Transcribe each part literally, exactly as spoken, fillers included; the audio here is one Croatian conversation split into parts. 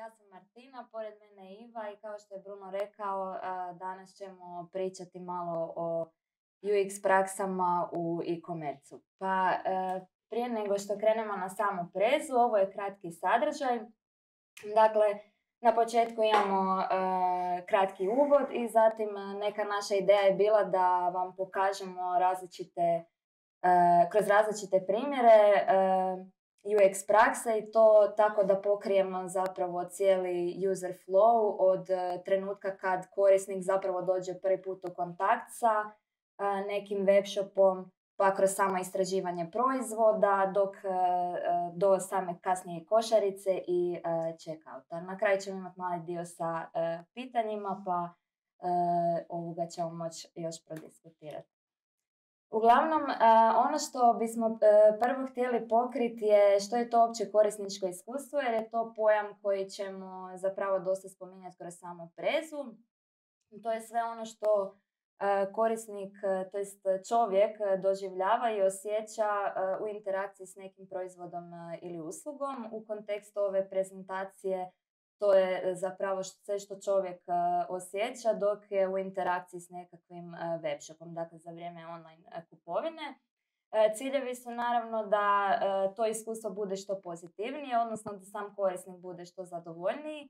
ja sam Martina, pored mene je Iva i kao što je Bruno rekao, danas ćemo pričati malo o U X praksama u e-commerce-u. Pa prije nego što krenemo na samu prezu, ovo je kratki sadržaj. Dakle, na početku imamo uh, kratki uvod i zatim neka naša ideja je bila da vam pokažemo različite, uh, kroz različite primjere uh, U X prakse i to tako da pokrijemo zapravo cijeli user flow od uh, trenutka kad korisnik zapravo dođe prvi put u kontakt sa uh, nekim webshopom, pa kroz samo istraživanje proizvoda dok uh, do same kasnije košarice i uh, checkouta. Na kraju ćemo imati mali dio sa uh, pitanjima, pa uh, ovoga ćemo moći još prodiskutirati. Uglavnom, uh, ono što bismo uh, prvo htjeli pokriti je što je to opće korisničko iskustvo, jer je to pojam koji ćemo zapravo dosta spominjati kroz samu prezu. To je sve ono što korisnik, to jest čovjek, doživljava i osjeća u interakciji s nekim proizvodom ili uslugom. U kontekstu ove prezentacije to je zapravo sve što čovjek osjeća dok je u interakciji s nekakvim webshopom, dakle za vrijeme online kupovine. Ciljevi su naravno da to iskustvo bude što pozitivnije, odnosno da sam korisnik bude što zadovoljniji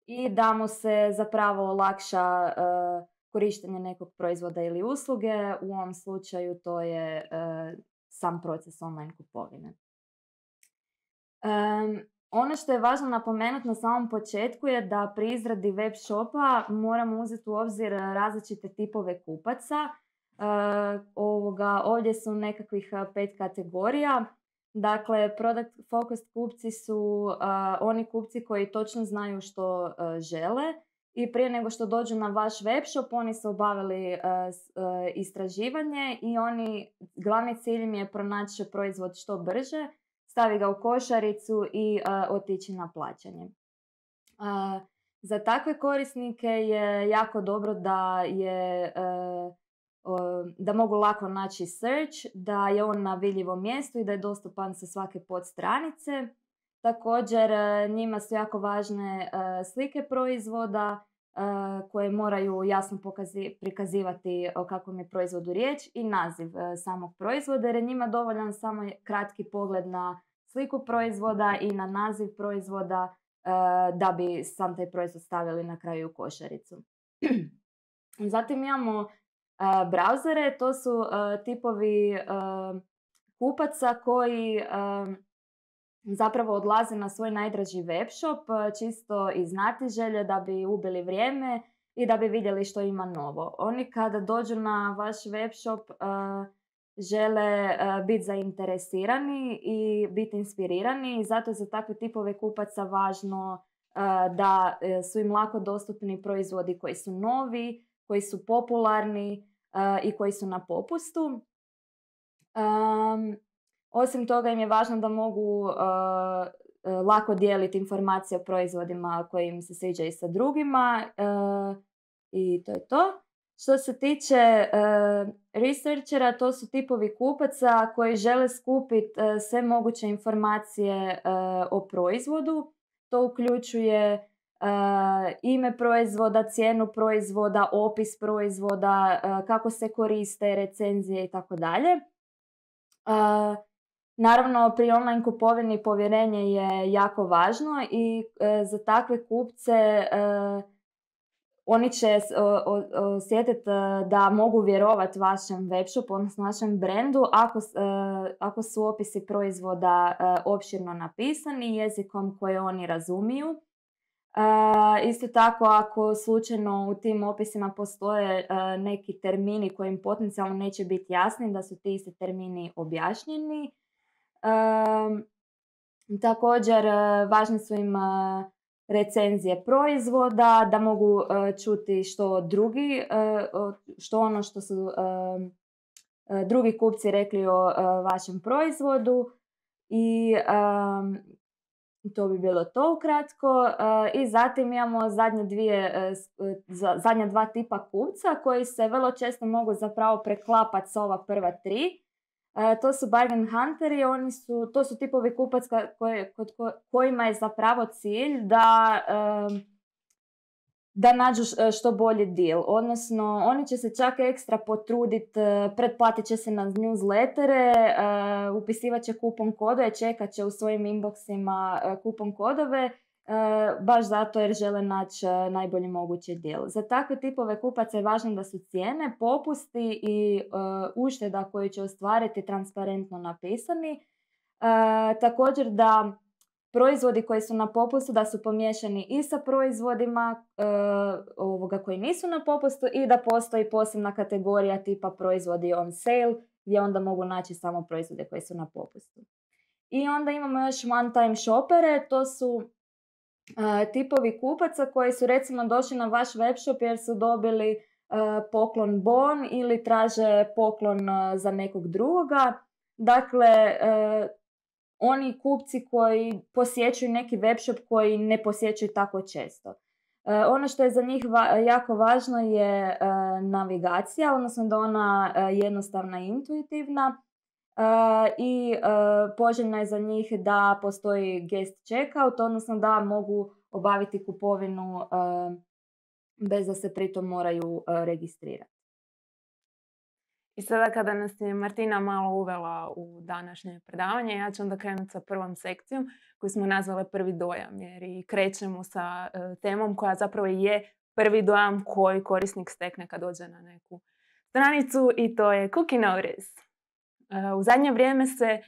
i da mu se zapravo olakša korištenje nekog proizvoda ili usluge. U ovom slučaju to je e, sam proces online kupovine. E, ono što je važno napomenuti na samom početku je da pri izradi web shopa moramo uzeti u obzir različite tipove kupaca. E, ovoga, ovdje su nekakvih pet kategorija. Dakle, product focused kupci su e, oni kupci koji točno znaju što e, žele. I prije nego što dođu na vaš webshop, oni su obavili uh, uh, istraživanje i oni, glavni cilj im je pronaći proizvod što brže, stavi ga u košaricu i uh, otići na plaćanje. Uh, za takve korisnike je jako dobro da, je, uh, uh, da mogu lako naći search, da je on na vidljivom mjestu i da je dostupan sa svake podstranice. Također, njima su jako važne uh, slike proizvoda uh, koje moraju jasno pokazi- prikazivati o kakvom je proizvodu riječ i naziv uh, samog proizvoda, jer je njima dovoljan samo kratki pogled na sliku proizvoda i na naziv proizvoda uh, da bi sam taj proizvod stavili na kraju u košaricu. Zatim imamo uh, brauzere, to su uh, tipovi uh, kupaca koji uh, zapravo odlaze na svoj najdraži webshop čisto iz znatiželje da bi ubili vrijeme i da bi vidjeli što ima novo. Oni kada dođu na vaš webshop uh, žele uh, biti zainteresirani i biti inspirirani i zato je za takve tipove kupaca važno uh, da su im lako dostupni proizvodi koji su novi, koji su popularni uh, i koji su na popustu. Um, Osim toga im je važno da mogu uh, uh, lako dijeliti informacije o proizvodima koji im se sviđaju sa drugima uh, i to je to. Što se tiče uh, researchera, to su tipovi kupaca koji žele skupiti uh, sve moguće informacije uh, o proizvodu. To uključuje uh, ime proizvoda, cijenu proizvoda, opis proizvoda, uh, kako se koriste, recenzije i tako dalje. Naravno, pri online kupovini povjerenje je jako važno i e, za takve kupce e, oni će osjetiti da mogu vjerovati vašem webshopu, odnosno vašem brendu ako, e, ako su opisi proizvoda e, opširno napisani jezikom koje oni razumiju. E, isto tako, ako slučajno u tim opisima postoje e, neki termini koji im potencijalno neće biti jasni, da su ti isti termini objašnjeni. Um, također važne su im uh, recenzije proizvoda, da mogu uh, čuti što drugi, uh, što ono što su uh, uh, drugi kupci rekli o uh, vašem proizvodu i um, to bi bilo to ukratko. Uh, I zatim imamo zadnje, dvije, uh, zadnja dva tipa kupca koji se vrlo često mogu zapravo preklapati s ova prva tri. Uh, to su bargain hunteri, oni su, to su tipovi kupaca koje, kod ko, kojima je zapravo cilj da, um, da nađu što bolji deal. Odnosno, oni će se čak ekstra potruditi, uh, pretplatit će se na newslettere, uh, upisivat će kupon kodove, čekat će u svojim inboxima uh, kupon kodove, Uh, baš zato jer žele naći uh, najbolji mogući deal. Za takve tipove kupaca je važno da su cijene, popusti i uh, ušteda koju će ostvariti transparentno napisani. Uh, također da proizvodi koji su na popustu da su pomiješani i sa proizvodima uh, ovoga koji nisu na popustu i da postoji posebna kategorija tipa proizvodi on sale gdje onda mogu naći samo proizvode koji su na popustu. I onda imamo još one time shoppere, to su Uh, tipovi kupaca koji su recimo došli na vaš web shop jer su dobili uh, poklon bon ili traže poklon uh, za nekog drugoga. Dakle, uh, oni kupci koji posjećuju neki web shop koji ne posjećuju tako često. Uh, ono što je za njih va- jako važno je uh, navigacija, odnosno da ona uh, jednostavna i intuitivna. Uh, i uh, poželjno je za njih da postoji guest checkout, odnosno da mogu obaviti kupovinu uh, bez da se pritom moraju uh, registrirati. I sada kada nas je Martina malo uvela u današnje predavanje, ja ću onda krenuti sa prvom sekcijom koju smo nazvali prvi dojam, jer i krećemo sa uh, temom koja zapravo je prvi dojam koji korisnik stekne kad dođe na neku stranicu, i to je cookie notice. U zadnje vrijeme se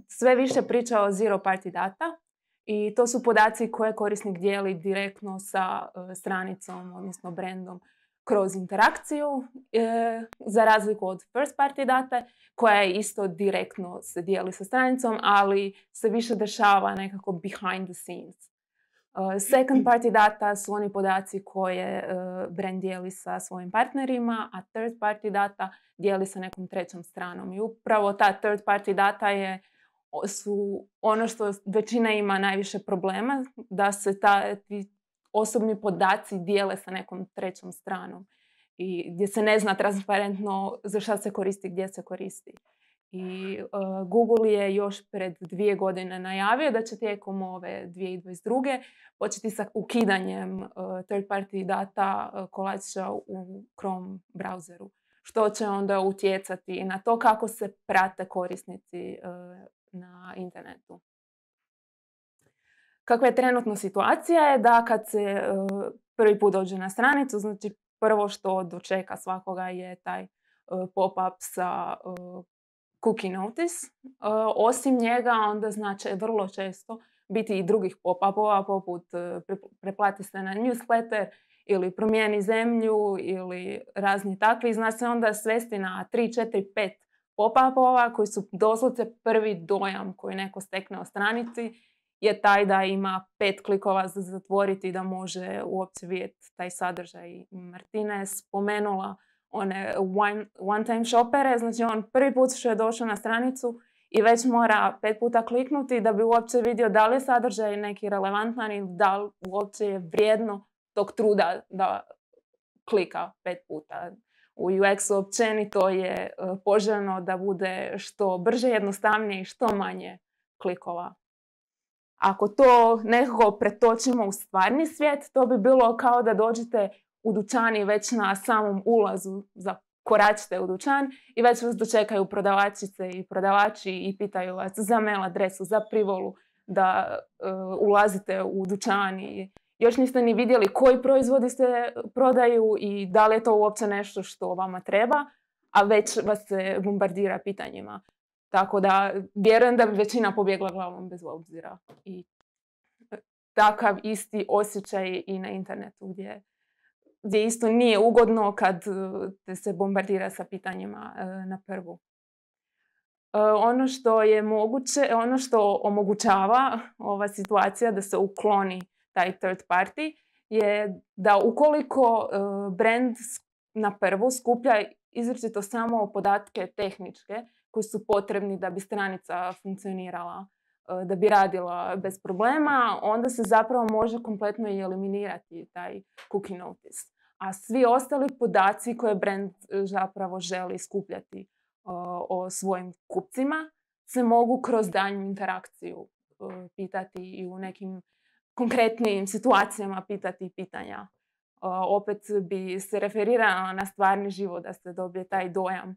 sve više priča o zero party data i to su podaci koje korisnik dijeli direktno sa stranicom, odnosno brandom, kroz interakciju, za razliku od first party data koja je isto direktno se dijeli sa stranicom, ali se više dešava nekako behind the scenes. Second party data su oni podaci koje brand dijeli sa svojim partnerima, a third party data dijeli sa nekom trećom stranom. I upravo ta third party data je, su ono što većina ima najviše problema, da se ta, ti osobni podaci dijele sa nekom trećom stranom i gdje se ne zna transparentno za šta se koristi, gdje se koristi. I uh, Google je još pred dvije godine najavio da će tijekom ove dvije tisuće dvadeset druge početi sa ukidanjem uh, third party data uh, kolača u Chrome browseru, što će onda utjecati na to kako se prate korisnici uh, na internetu. Kakva je trenutno situacija je da kad se uh, prvi put dođe na stranicu, znači prvo što dočeka svakoga je taj uh, pop-up sa uh, cookie notice. Uh, osim njega onda znači vrlo često biti i drugih pop-upova poput uh, preplati se na newsletter ili promijeni zemlju ili razni takvi. Zna se onda svesti na tri, četiri, pet pop-upova koji su doslovce prvi dojam koji neko stekne o stranici je taj da ima pet klikova za zatvoriti i da može uopće vidjeti taj sadržaj. Martina je spomenula one one, one time shoppere, znači on prvi put što je došao na stranicu i već mora pet puta kliknuti da bi uopće vidio da li je sadržaj neki relevantan i da li uopće je vrijedno tog truda da klika pet puta. U U X-u općenito je poželjno da bude što brže, jednostavnije i što manje klikova. Ako to nekako pretočimo u stvarni svijet, to bi bilo kao da dođete u dućan i već na samom ulazu zakoračite u dućan i već vas dočekaju prodavačice i prodavači i pitaju vas za mail adresu, za privolu da uh, ulazite u dućan i još niste ni vidjeli koji proizvodi se prodaju i da li je to uopće nešto što vama treba, a već vas se bombardira pitanjima. Tako da vjerujem da bi većina pobjegla glavom bez obzira. I takav isti osjećaj i na internetu gdje, gdje isto nije ugodno kad te se bombardira sa pitanjima na prvu. Ono što je moguće, ono što omogućava ova situacija da se ukloni taj third party je da ukoliko brand na prvu skuplja izričito samo podatke tehničke koji su potrebni da bi stranica funkcionirala, da bi radila bez problema, onda se zapravo može kompletno i eliminirati taj cookie notice. A svi ostali podaci koje brand zapravo želi skupljati o svojim kupcima se mogu kroz daljnju interakciju pitati i u nekim konkretnim situacijama pitati pitanja. Opet bi se referirala na stvarni život da se dobije taj dojam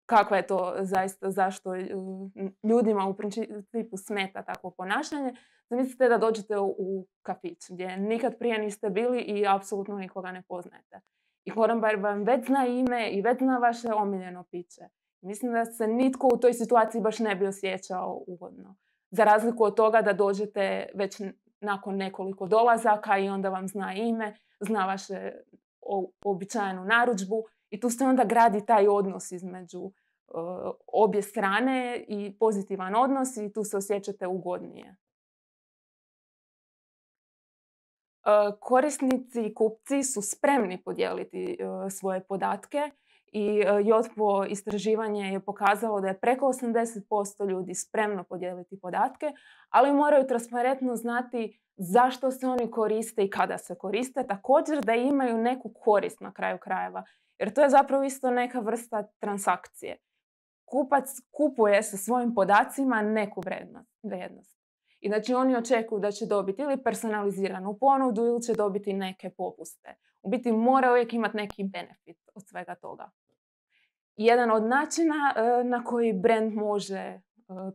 kako je to zaista, zašto ljudima u principu smeta takvo ponašanje. Zamislite da dođete u kafić gdje nikad prije niste bili i apsolutno nikoga ne poznajete. I konobar vam već zna ime i već zna vaše omiljeno piće. Mislim da se nitko u toj situaciji baš ne bi osjećao ugodno. Za razliku od toga da dođete već nakon nekoliko dolazaka i onda vam zna ime, zna vaše običajenu narudžbu i tu se onda gradi taj odnos između uh, obje strane i pozitivan odnos i tu se osjećate ugodnije. Uh, korisnici i kupci su spremni podijeliti uh, svoje podatke i uh, Jotpo istraživanje je pokazalo da je preko osamdeset posto ljudi spremno podijeliti podatke, ali moraju transparentno znati zašto se oni koriste i kada se koriste, također da imaju neku korist na kraju krajeva. Jer to je zapravo isto neka vrsta transakcije. Kupac kupuje sa svojim podacima neku vrijednost. I znači oni očekuju da će dobiti ili personaliziranu ponudu ili će dobiti neke popuste. U biti mora uvijek imati neki benefit od svega toga. Jedan od načina na koji brand može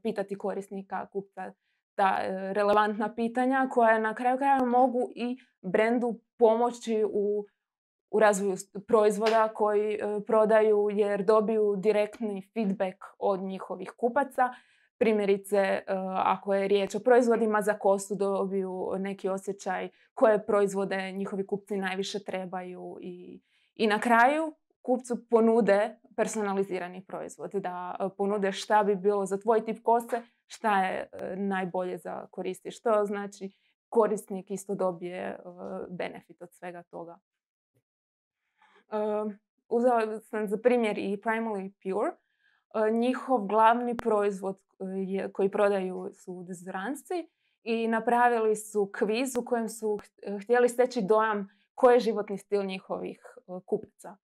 pitati korisnika, kupca, ta relevantna pitanja koja na kraju krajeva mogu i brandu pomoći u, u razvoju proizvoda koji e, prodaju jer dobiju direktni feedback od njihovih kupaca. Primjerice, e, ako je riječ o proizvodima za kosu, dobiju neki osjećaj koje proizvode njihovi kupci najviše trebaju i, i na kraju kupcu ponude personalizirani proizvod, da ponude šta bi bilo za tvoj tip kose, šta je najbolje za koristi. Što znači korisnik isto dobije benefit od svega toga. Uzela sam za primjer i Primally Pure. Njihov glavni proizvod koji prodaju su dezodoransi i napravili su kviz u kojem su htjeli steći dojam koji je životni stil njihovih kupaca.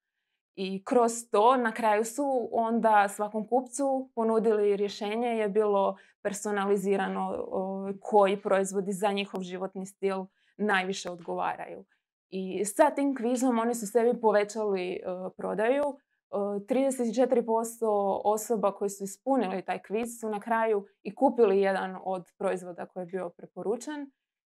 I kroz to na kraju su onda svakom kupcu ponudili rješenje, je bilo personalizirano koji proizvodi za njihov životni stil najviše odgovaraju. I sa tim kvizom oni su sebi povećali uh, prodaju. Uh, trideset četiri posto osoba koji su ispunili taj kviz su na kraju i kupili jedan od proizvoda koji je bio preporučen.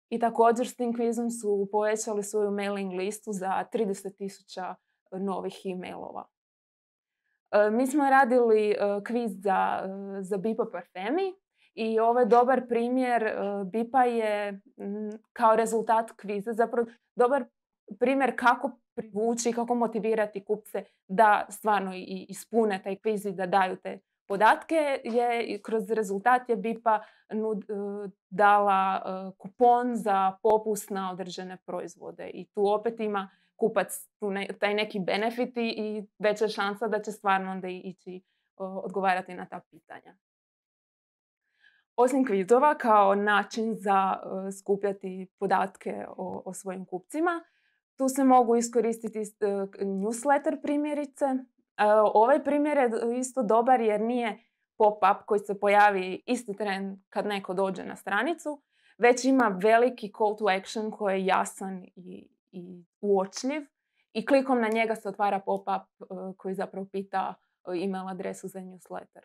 I također s tim kvizom su povećali svoju mailing listu za trideset tisuća novih e-mailova. Uh, mi smo radili uh, kviz za, uh, za Bipa Parfemi i ovo je dobar primjer. Uh, Bipa je m, kao rezultat kviza zapravo dobar primjer kako privući, kako motivirati kupce da stvarno i ispune taj kviz i da daju te podatke. Je, kroz rezultat je Bipa nud, uh, dala uh, kupon za popust na određene proizvode i tu opet ima kupac tu ne, taj neki benefit i veća šansa da će stvarno onda ići uh, odgovarati na ta pitanja. Osim kvizova kao način za uh, skupljati podatke o, o svojim kupcima, tu se mogu iskoristiti uh, newsletter primjerice. Uh, ovaj primjer je isto dobar jer nije pop-up koji se pojavi isti tren kad neko dođe na stranicu, već ima veliki call to action koji je jasan i, i uočljiv i klikom na njega se otvara pop-up uh, koji zapravo pita uh, email adresu za newsletter.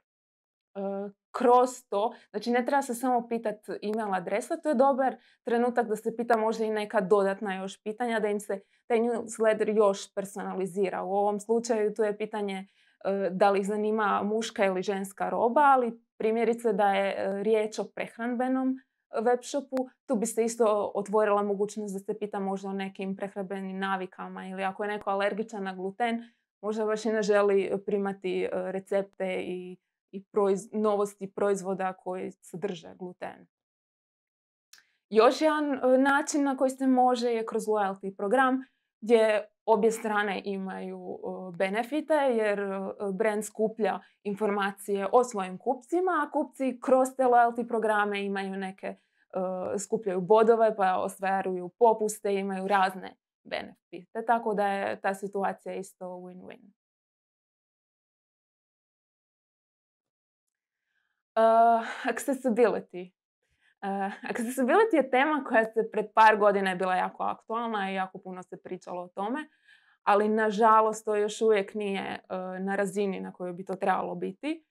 Uh, kroz to, znači ne treba se samo pitati email adresa, to je dobar trenutak da se pita možda i neka dodatna još pitanja, da im se taj newsletter još personalizira. U ovom slučaju to je pitanje uh, da li ih zanima muška ili ženska roba, ali primjerice da je uh, riječ o prehrambenom web shopu, tu bi se isto otvorila mogućnost da se pita možda o nekim prehrambenim navikama ili ako je neko alergičan na gluten, možda baš i ne želi primati uh, recepte i i proiz, novosti proizvoda koji sadrže gluten. Još jedan način na koji se može je kroz loyalty program gdje obje strane imaju benefite jer brand skuplja informacije o svojim kupcima, a kupci kroz te loyalty programe imaju neke, skupljaju bodove pa ostvaruju popuste, imaju razne benefite. Tako da je ta situacija isto win-win. accessibility. Uh, accessibility je tema koja se pred par godina je bila jako aktualna i jako puno se pričalo o tome, ali nažalost to još uvijek nije uh, na razini na kojoj bi to trebalo biti.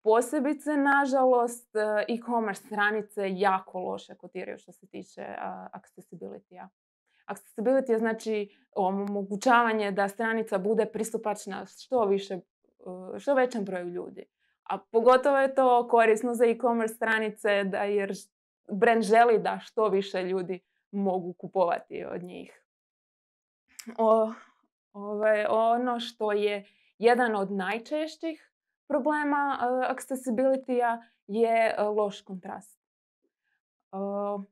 Posebice, nažalost, uh, e-commerce stranice jako loše kotiraju što se tiče uh, accessibility-a. Accessibility je znači omogućavanje da stranica bude pristupačna što više, uh, što većem broju ljudi. A pogotovo je to korisno za e-commerce stranice da jer brand želi da što više ljudi mogu kupovati od njih. O, ove, ono što je jedan od najčešćih problema uh, accessibility-a je uh, loš kontrast. Uh,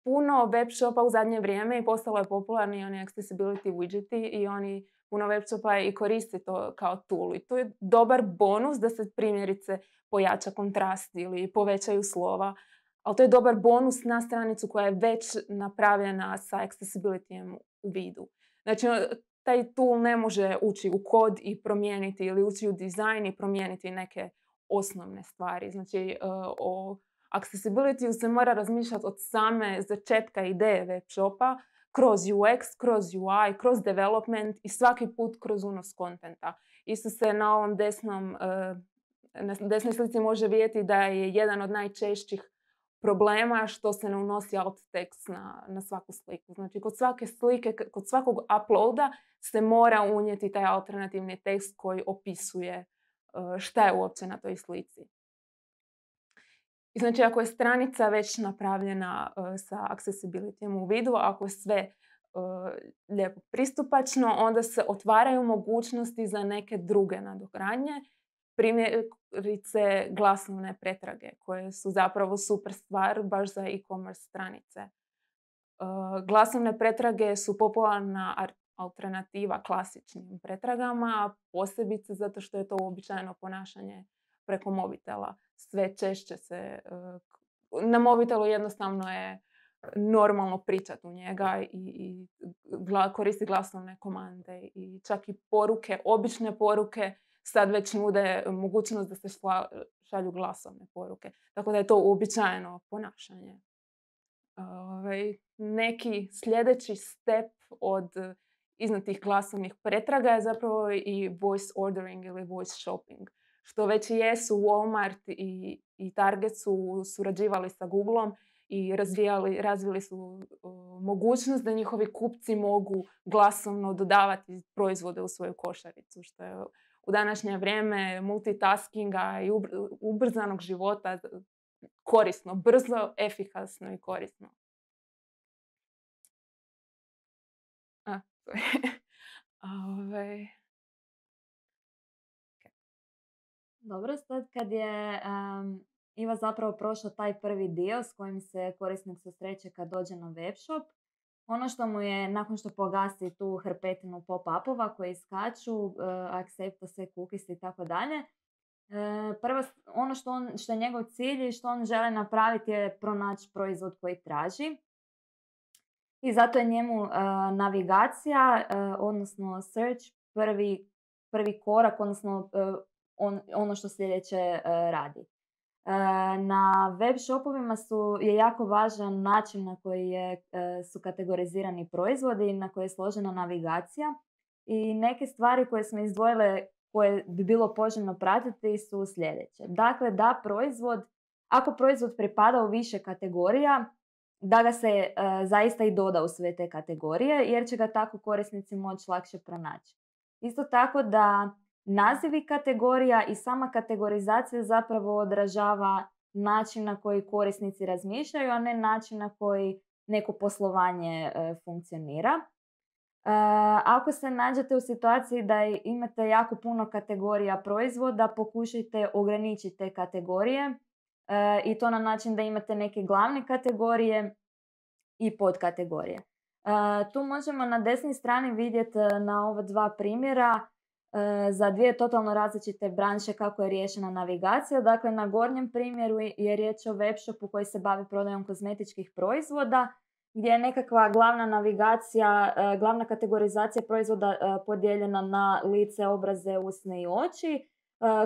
puno web shopa u zadnje vrijeme i postalo je popularni oni accessibility widgeti i oni puno web shopa i koristi to kao tool. I to je dobar bonus da se primjerice pojača kontrast ili povećaju slova. Ali to je dobar bonus na stranicu koja je već napravljena sa accessibility-em u vidu. Znači, taj tool ne može ući u kod i promijeniti ili ući u dizajn i promijeniti neke osnovne stvari. Znači, o accessibility-u se mora razmišljati od same začetka ideje web shopa, kroz U X, kroz U I, kroz development i svaki put kroz unos kontenta. Isto se na ovom desnom, na desnoj slici može vidjeti da je jedan od najčešćih problema što se ne unosi alt text na, na svaku sliku. Znači, kod svake slike, kod svakog uploada se mora unijeti taj alternativni tekst koji opisuje šta je uopće na toj slici. I znači, ako je stranica već napravljena uh, sa accessibility-em u vidu, ako je sve uh, lijepo pristupačno, onda se otvaraju mogućnosti za neke druge nadogradnje. Primjerice glasovne pretrage, koje su zapravo super stvar baš za e-commerce stranice. Uh, glasovne pretrage su popularna alternativa klasičnim pretragama, posebice zato što je to uobičajeno ponašanje preko mobitela. Sve češće se, na mobitelu jednostavno je normalno pričati u njega i, i koristi glasovne komande i čak i poruke, obične poruke sad već nude mogućnost da se šalju glasovne poruke. Tako da je to uobičajeno ponašanje. Ove, neki sljedeći step od iznad tih glasovnih pretraga je zapravo i voice ordering ili voice shopping. Što već i jesu, Walmart i, i Target su surađivali sa Googleom i razvijali, razvili su uh, mogućnost da njihovi kupci mogu glasovno dodavati proizvode u svoju košaricu, što je u današnje vrijeme multitaskinga i ubrzanog života korisno, brzo, efikasno i korisno. A, Ove... Dobro, sad kad je um, Iva zapravo prošla taj prvi dio s kojim se korisnik susreće kad dođe na webshop, ono što mu je, nakon što pogasi tu hrpetinu pop-upova koji skaču, uh, accepta se cookies i tako dalje, prvo ono što, on, što je njegov cilj i što on želi napraviti je pronaći proizvod koji traži. I zato je njemu uh, navigacija, uh, odnosno search, prvi, prvi korak, odnosno uh, on, ono što sljedeće uh, radi. Uh, na web shopovima su, je jako važan način na koji je, uh, su kategorizirani proizvodi, na koji je složena navigacija. I neke stvari koje smo izdvojile, koje bi bilo poželjno pratiti, su sljedeće. Dakle, da proizvod, ako proizvod pripada u više kategorija, da ga se uh, zaista i doda u sve te kategorije, jer će ga tako korisnici moći lakše pronaći. Isto tako da nazivi kategorija i sama kategorizacija zapravo odražava način na koji korisnici razmišljaju, a ne način na koji neko poslovanje uh, funkcionira. Uh, ako se nađete u situaciji da imate jako puno kategorija proizvoda, pokušajte ograničiti te kategorije. Uh, i to na način da imate neke glavne kategorije i podkategorije. Uh, tu možemo na desnoj strani vidjeti na ova dva primjera uh, za dvije totalno različite branše kako je riješena navigacija. Dakle, na gornjem primjeru je riječ o webshopu koji se bavi prodajom kozmetičkih proizvoda, gdje je nekakva glavna navigacija, uh, glavna kategorizacija proizvoda uh, podijeljena na lice, obraze, usne i oči.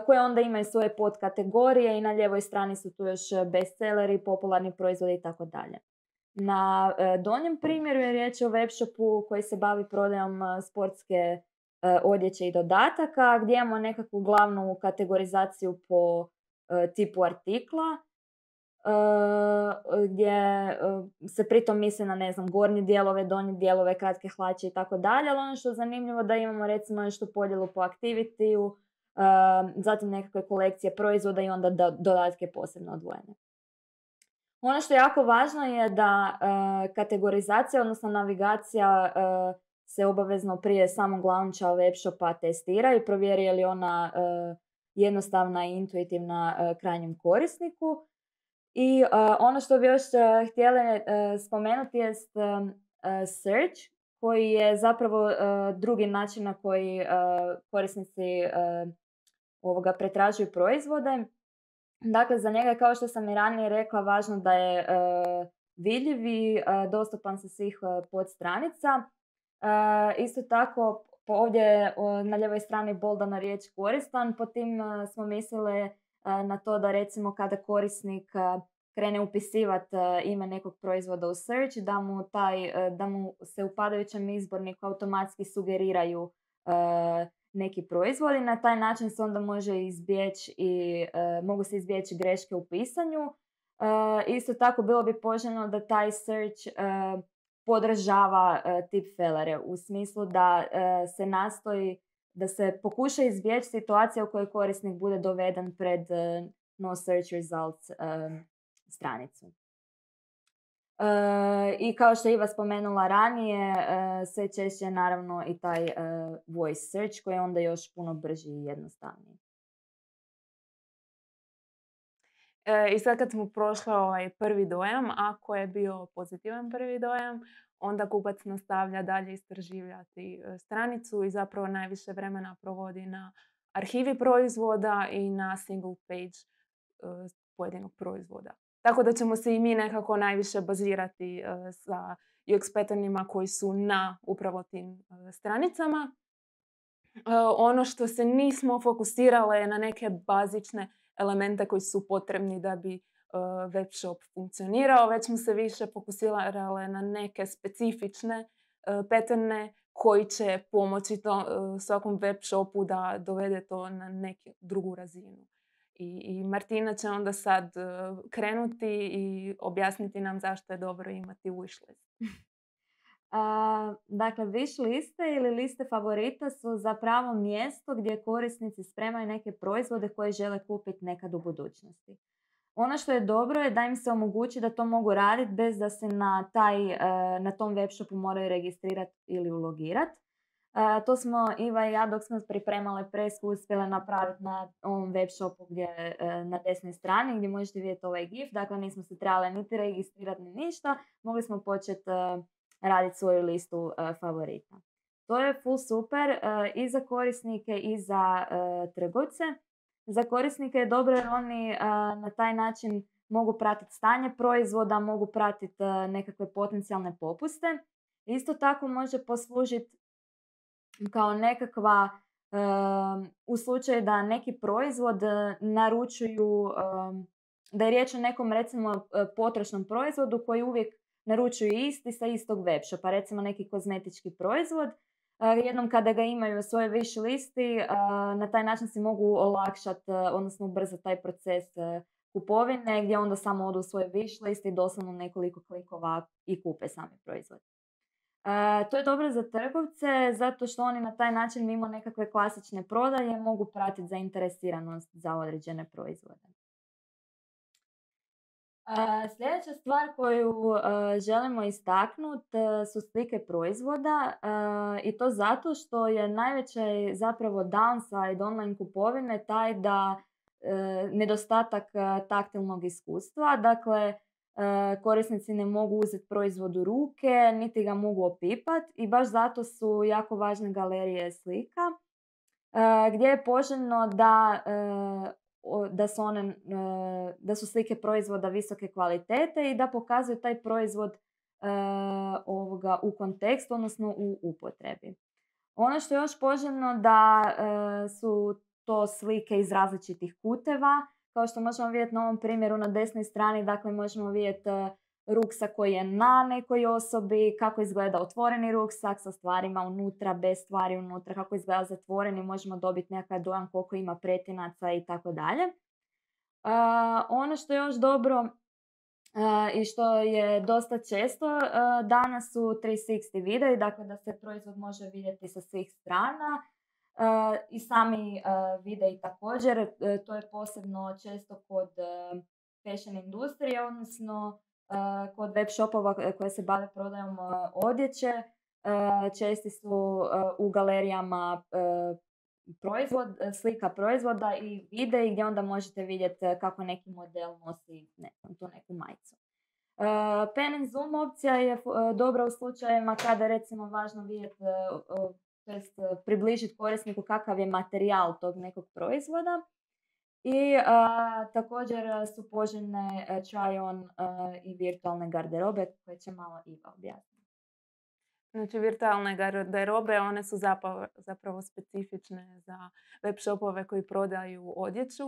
koje onda imaju svoje podkategorije i na lijevoj strani su tu još bestselleri, popularni proizvodi i tako dalje. Na donjem primjeru je riječ o webshopu koji se bavi prodajom sportske odjeće i dodataka, gdje imamo nekakvu glavnu kategorizaciju po tipu artikla, gdje se pritom misli na, ne znam, gornje dijelove, donje dijelove, kratke hlače i tako dalje, ali ono što je zanimljivo da imamo recimo nešto podjelu po aktivitiju, zatim nekakve kolekcije proizvoda i onda dodatke posebno odvojene. Ono što je jako važno je da kategorizacija, odnosno navigacija se obavezno prije samog launcha webshopa testira i provjeri je li ona jednostavna i intuitivna krajnjem korisniku. I uh, ono što bi još uh, htjela uh, spomenuti je uh, search, koji je zapravo uh, drugi način na koji uh, korisnici uh, ovoga pretražuju proizvode. Dakle, za njega je, kao što sam i ranije rekla, važno da je uh, vidljiv i uh, dostupan sa svih uh, podstranica. Uh, isto tako, ovdje uh, na lijevoj strani boldana riječ koristan, po tim uh, smo mislili na to da recimo kada korisnik krene upisivati ime nekog proizvoda u search, da mu, taj, da mu se u padajućem izborniku automatski sugeriraju neki proizvodi. Na taj način se onda može izbjeći i mogu se izbjeći greške u pisanju. Isto tako bilo bi poželjno da taj search podržava tipfelere u smislu da se nastoji da se pokuša izbjeći situacija u kojoj korisnik bude doveden pred uh, no search results uh, stranicu. Uh, I kao što je Iva spomenula ranije, uh, sve češće je naravno i taj uh, voice search koji je onda još puno brži i jednostavniji. E, I sad kad smo prošli ovaj prvi dojam, ako je bio pozitivan prvi dojam, onda kupac nastavlja dalje istraživati stranicu i zapravo najviše vremena provodi na arhivi proizvoda i na single page uh, pojedinog proizvoda. Tako da ćemo se i mi nekako najviše bazirati uh, sa U X patternima koji su na upravo tim uh, stranicama. Uh, ono što se nismo fokusirale je na neke bazične elemente koji su potrebni da bi uh, web shop funkcionirao, već smo se više fokusirale na neke specifične uh, patterne koji će pomoći to, uh, svakom web shopu da dovede to na neku drugu razinu. I, i Martina će onda sad uh, krenuti i objasniti nam zašto je dobro imati wishlist. Uh, dakle, wish liste ili liste favorita su zapravo mjesto gdje korisnici spremaju neke proizvode koje žele kupiti nekad u budućnosti. Ono što je dobro je da im se omogući da to mogu raditi bez da se na, taj, uh, na tom webshopu moraju registrirati ili ulogirati. Uh, to smo Iva i ja dok smo pripremale presku uspjele napraviti na ovom webshopu gdje uh, na desnoj strani gdje možete vidjeti ovaj gif. Dakle, nismo se trebali niti registrirati ni ništa. Mogli smo početi uh, raditi svoju listu uh, favorita. To je full super uh, i za korisnike i za uh, trgovce. Za korisnike je dobro jer oni uh, na taj način mogu pratiti stanje proizvoda, mogu pratiti uh, nekakve potencijalne popuste. Isto tako može poslužiti kao nekakva, uh, u slučaju da neki proizvod naručuju, uh, da je riječ o nekom recimo potrošnom proizvodu koji uvijek naručuju isti sa istog webshopa, recimo neki kozmetički proizvod. Uh, jednom kada ga imaju u svojoj wish listi, uh, na taj način si mogu olakšati, uh, odnosno ubrzati taj proces uh, kupovine, gdje onda samo odu u svoj wish list i doslovno nekoliko klikova i kupe sami proizvod. Uh, to je dobro za trgovce zato što oni na taj način mimo nekakve klasične prodaje mogu pratiti zainteresiranost za određene proizvode. Uh, sljedeća stvar koju uh, želimo istaknuti uh, su slike proizvoda uh, i to zato što je najveći zapravo downside online kupovine taj da uh, nedostatak uh, taktilnog iskustva. Dakle, uh, korisnici ne mogu uzeti proizvod u ruke, niti ga mogu opipati i baš zato su jako važne galerije slika uh, gdje je poželjno da uh, Da su, one, da su slike proizvoda visoke kvalitete i da pokazuju taj proizvod uh, ovoga u kontekstu, odnosno u upotrebi. Ono što je još poželjno da uh, su to slike iz različitih kuteva. Kao što možemo vidjeti na ovom primjeru na desnoj strani, dakle možemo vidjeti ruksak koji je na nekoj osobi, kako izgleda otvoreni ruksak sa stvarima unutra, bez stvari unutra, kako izgleda zatvoreni, možemo dobiti nekakav dojam koliko ima pretinaca i tako dalje. Ono što je još dobro uh, i što je dosta često uh, danas su tristo šezdeset videi, dakle da se proizvod može vidjeti sa svih strana. Uh, I sami uh, videi također, uh, to je posebno često kod uh, fashion industrije, odnosno uh, kod web shopova koje se bave prodajom uh, odjeće. Uh, česti su uh, u galerijama uh, proizvod, slika proizvoda i videi gdje onda možete vidjeti kako neki model nosi ne, tu neku majicu. Uh, Pen and zoom opcija je uh, dobra u slučajevima kada je recimo važno vidjeti, uh, uh, to jest uh, približiti korisniku kakav je materijal tog nekog proizvoda. I uh, također su poželjne uh, try-on uh, i virtualne garderobe koje će malo Iva objasniti. Znači, virtualne garderobe, one su zapravo, zapravo specifične za web shopove koji prodaju odjeću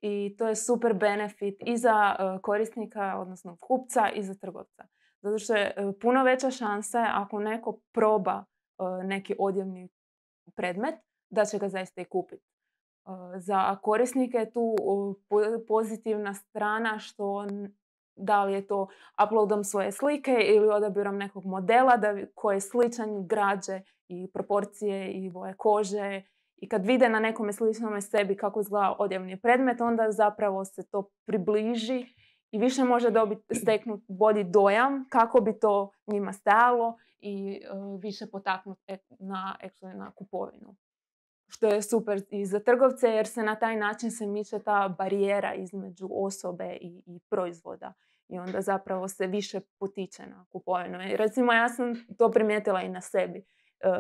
i to je super benefit i za uh, korisnika, odnosno kupca, i za trgovca. Zato što je uh, puno veća šansa ako neko proba uh, neki odjevni predmet, da će ga zaista i kupiti. Uh, za korisnike je tu uh, pozitivna strana što da li je to uploadom svoje slike ili odabirom nekog modela da, koji je sličan građe i proporcije i boje kože. I kad vide na nekome sličnome sebi kako izgleda odjevni predmet, onda zapravo se to približi i više može dobiti, steknuti bolji dojam kako bi to njima stajalo i uh, više potaknuti na, na kupovinu. Što je super i za trgovce jer se na taj način se miče ta barijera između osobe i, i proizvoda. I onda zapravo se više potiče na kupovinu. I recimo ja sam to primijetila i na sebi.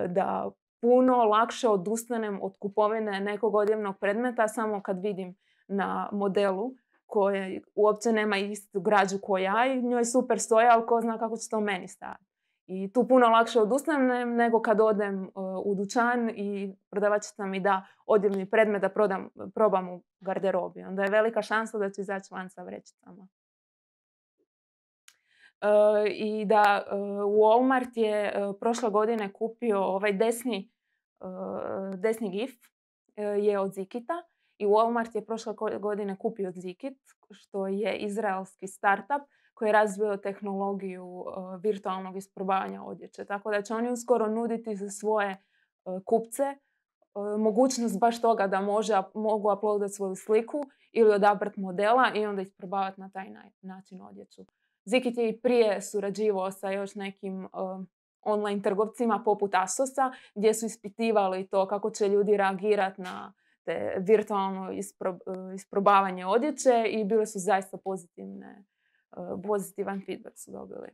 Da puno lakše odustanem od kupovine nekog odjevnog predmeta samo kad vidim na modelu koji uopće nema istu građu kao ja i njoj super stoja, ali ko zna kako će to meni stajati. I tu puno lakše odustanem nego kad odem uh, u dućan i prodavačica mi da odjevni predmet da prodam, probam u garderobi. Onda je velika šansa da će izaći van sa vrećicama. Uh, I da uh, Walmart je uh, prošle godine kupio ovaj desni, uh, desni gif uh, je od Zikita. I Walmart je prošle godine kupio Zikit, što je izraelski startup koji je razvio tehnologiju uh, virtualnog isprobavanja odjeće. Tako da će oni uskoro nuditi za svoje uh, kupce uh, mogućnost baš toga da može, mogu uploadati svoju sliku ili odabrati modela i onda isprobavati na taj način odjeću. Zikit je i prije surađivao sa još nekim uh, online trgovcima poput Asosa gdje su ispitivali to kako će ljudi reagirati na te virtualno ispro, isprobavanje odjeće i bile su zaista pozitivne, pozitivan feedback su dobili.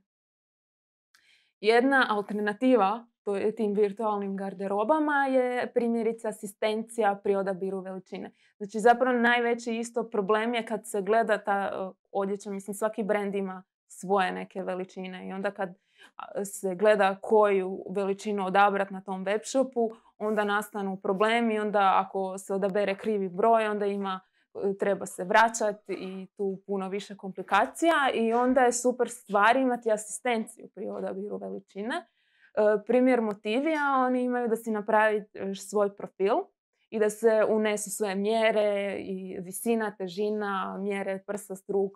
Jedna alternativa tim virtualnim garderobama je primjerice asistencija pri odabiru veličine. Znači zapravo najveći isto problem je kad se gleda ta odjeća, mislim svaki brand ima svoje neke veličine i onda kad se gleda koju veličinu odabrati na tom web shopu, onda nastanu problemi, onda ako se odabere krivi broj, onda ima, treba se vraćati i tu puno više komplikacija i onda je super stvar imati asistenciju pri odabiru veličine. E, primjer Motivija, oni imaju da si napravi svoj profil i da se unesu sve mjere i visina, težina, mjere prsa, struk,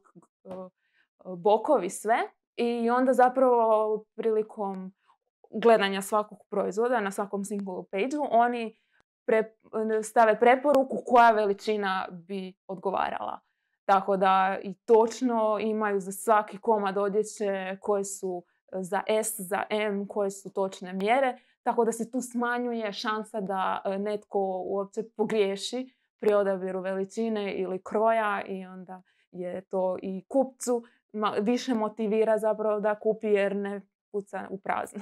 bokovi, sve. I onda zapravo prilikom gledanja svakog proizvoda na svakom single page-u oni pre, stave preporuku koja veličina bi odgovarala. Tako da i točno imaju za svaki komad odjeće koje su za S, za M, koje su točne mjere. Tako da se tu smanjuje šansa da netko uopće pogriješi pri odabiru veličine ili kroja i onda je to i kupcu više motivira zapravo da kupi jer ne puca u prazno.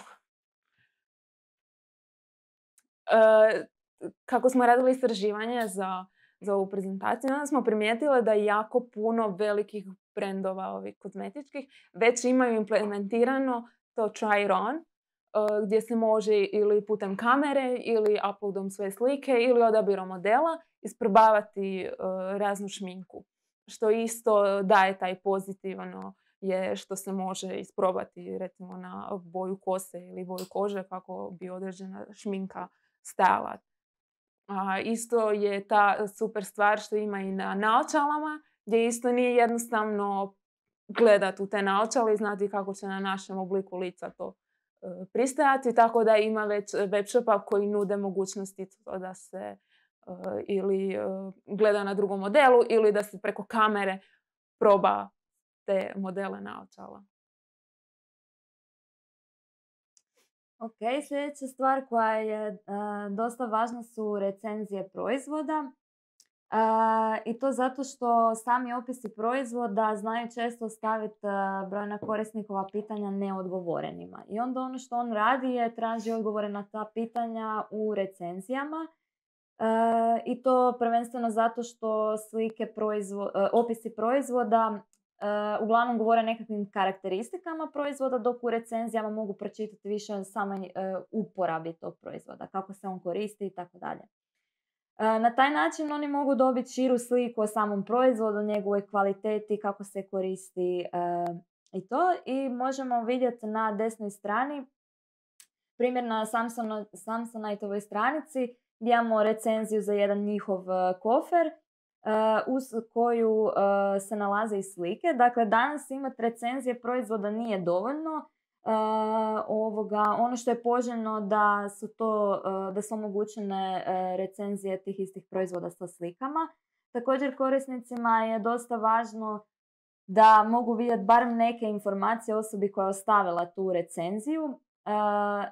E, kako smo radili istraživanje za, za ovu prezentaciju, onda smo primijetili da jako puno velikih brendova ovih kozmetičkih već imaju implementirano to try it on gdje se može ili putem kamere ili uploadom sve slike ili odabirom modela isprobavati raznu šminku. Što isto daje taj pozitivno je što se može isprobati recimo na boju kose ili boju kože kako bi određena šminka stajala. A, isto je ta super stvar što ima i na naočalama, gdje isto nije jednostavno gledati u te naočale i znati kako će na našem obliku lica to e, pristajati, tako da ima već web shopa koji nude mogućnosti da se e, ili e, gleda na drugom modelu ili da se preko kamere proba te modele naočala. Ok, sljedeća stvar koja je uh, dosta važna su recenzije proizvoda. Uh, I to zato što sami opisi proizvoda znaju često staviti uh, brojna korisnikova pitanja neodgovorenima. I onda ono što on radi je traži odgovore na ta pitanja u recenzijama. Uh, I to prvenstveno zato što slike proizvo, uh, opisi proizvoda Uh, uglavnom govore nekakvim karakteristikama proizvoda, dok u recenzijama mogu pročitati više o samoj uh, uporabi tog proizvoda, kako se on koristi i tako dalje. Na taj način oni mogu dobiti širu sliku o samom proizvodu, njegovoj kvaliteti, kako se koristi uh, i to. I možemo vidjeti na desnoj strani primjer na Samsung, Samsoniteovoj stranici gdje imamo recenziju za jedan njihov uh, kofer. Uh, uz koju uh, se nalaze i slike. Dakle, danas imati recenzije proizvoda nije dovoljno. Uh, ovoga, ono što je poželjno da su to, uh, da su omogućene uh, recenzije tih istih proizvoda sa slikama. Također korisnicima je dosta važno da mogu vidjeti barem neke informacije o osobi koja je ostavila tu recenziju. Uh,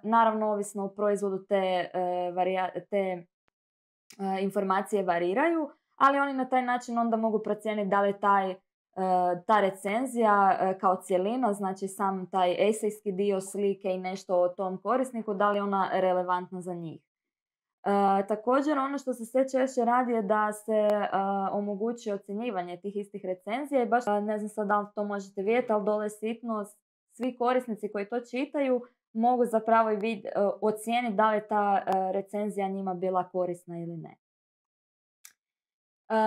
naravno, ovisno o proizvodu te, uh, varija, te uh, informacije variraju, ali oni na taj način onda mogu procijeniti da li taj, ta recenzija kao cjelina, znači sam taj esejski dio slike i nešto o tom korisniku, da li je ona relevantna za njih. E, također ono što se sve češće radi je da se a, omogući ocjenjivanje tih istih recenzija i baš ne znam sad da li to možete vidjeti, ali dole sitno svi korisnici koji to čitaju mogu zapravo i vid, ocijeniti da li je ta recenzija njima bila korisna ili ne. Uh,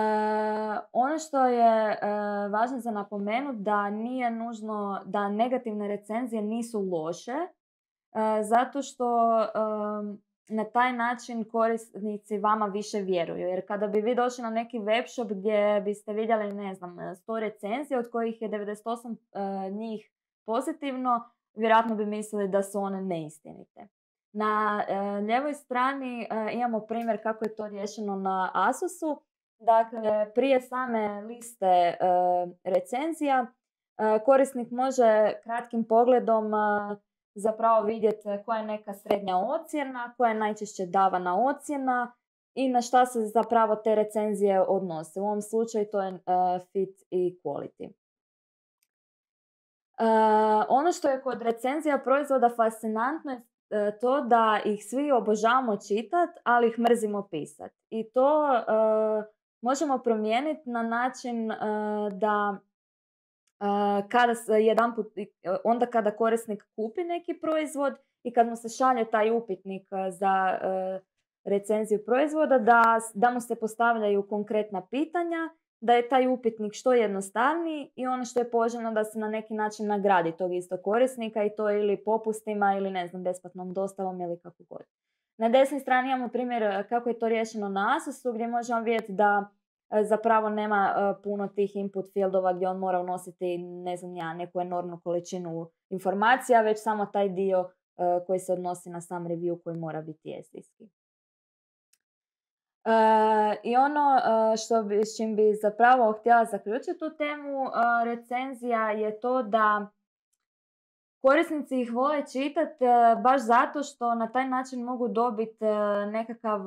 ono što je uh, važno za napomenuti da nije nužno da negativne recenzije nisu loše uh, zato što um, na taj način korisnici vama više vjeruju. Jer kada bi vi došli na neki web shop gdje biste vidjeli, ne znam, sto recenzija od kojih je devedeset osam uh, njih pozitivno, vjerojatno bi mislili da su one neistinite. Na uh, ljevoj strani uh, imamo primjer kako je to riješeno na Asusu. Dakle, prije same liste e, recenzija e, korisnik može kratkim pogledom e, zapravo vidjeti koja je neka srednja ocjena, koja je najčešće davana ocjena i na šta se zapravo te recenzije odnose. U ovom slučaju to je e, fit i quality. E, ono što je kod recenzija proizvoda fascinantno je e, to da ih svi obožavamo čitati, ali ih mrzimo pisati. I to e, možemo promijeniti na način uh, da uh, kada jedanput, onda kada korisnik kupi neki proizvod i kad mu se šalje taj upitnik uh, za uh, recenziju proizvoda, da, da mu se postavljaju konkretna pitanja, da je taj upitnik što jednostavniji i ono što je poželjno da se na neki način nagradi tog istog korisnika i to ili popustima ili ne znam, besplatnom dostavom ili kako god. Na desnoj strani imamo primjer kako je to riješeno na Asusu gdje možemo vidjeti da zapravo nema puno tih input fieldova gdje on mora unositi ne znam ja, neku enormnu količinu informacija, već samo taj dio koji se odnosi na sam review koji mora biti esejski. I ono što bi, s čim bi zapravo htjela zaključiti tu temu recenzija je to da korisnici ih vole čitati baš zato što na taj način mogu dobiti nekakav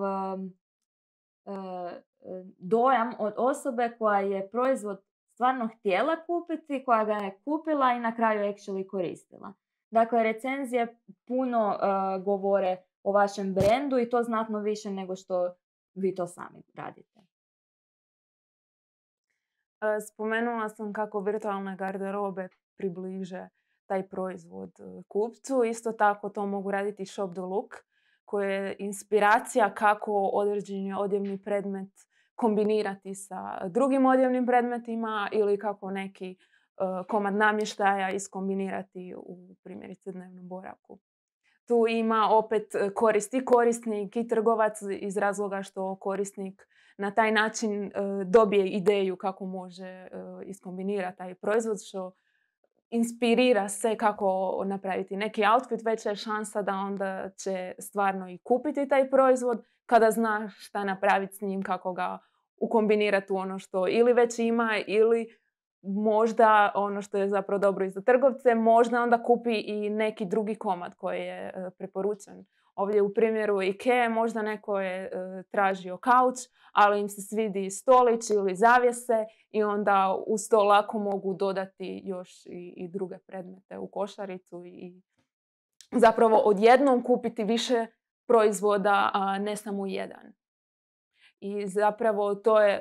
dojam od osobe koja je proizvod stvarno htjela kupiti, koja ga je kupila i na kraju actually koristila. Dakle, recenzije puno uh, govore o vašem brendu i to znatno više nego što vi to sami radite. Spomenula sam kako virtualne garderobe približe taj proizvod kupcu. Isto tako to mogu raditi Shop the Look, koja je inspiracija kako određeni odjevni predmet kombinirati sa drugim odjevnim predmetima ili kako neki uh, komad namještaja iskombinirati u primjerice dnevnom boravku. Tu ima opet korist i korisnik i trgovac iz razloga što korisnik na taj način uh, dobije ideju kako može uh, iskombinirati taj proizvod, što inspirira se kako napraviti neki outfit, veća je šansa da onda će stvarno i kupiti taj proizvod kada zna šta napraviti s njim, kako ga ukombinirati u ono što ili već ima ili možda ono što je zapravo dobro i za trgovce, možda onda kupi i neki drugi komad koji je preporučen. Ovdje u primjeru Ikea možda neko je tražio kauč, ali im se svidi stolić ili zavjese i onda uz to lako mogu dodati još i, i druge predmete u košaricu i zapravo odjednom kupiti više proizvoda, a ne samo jedan. I zapravo to je,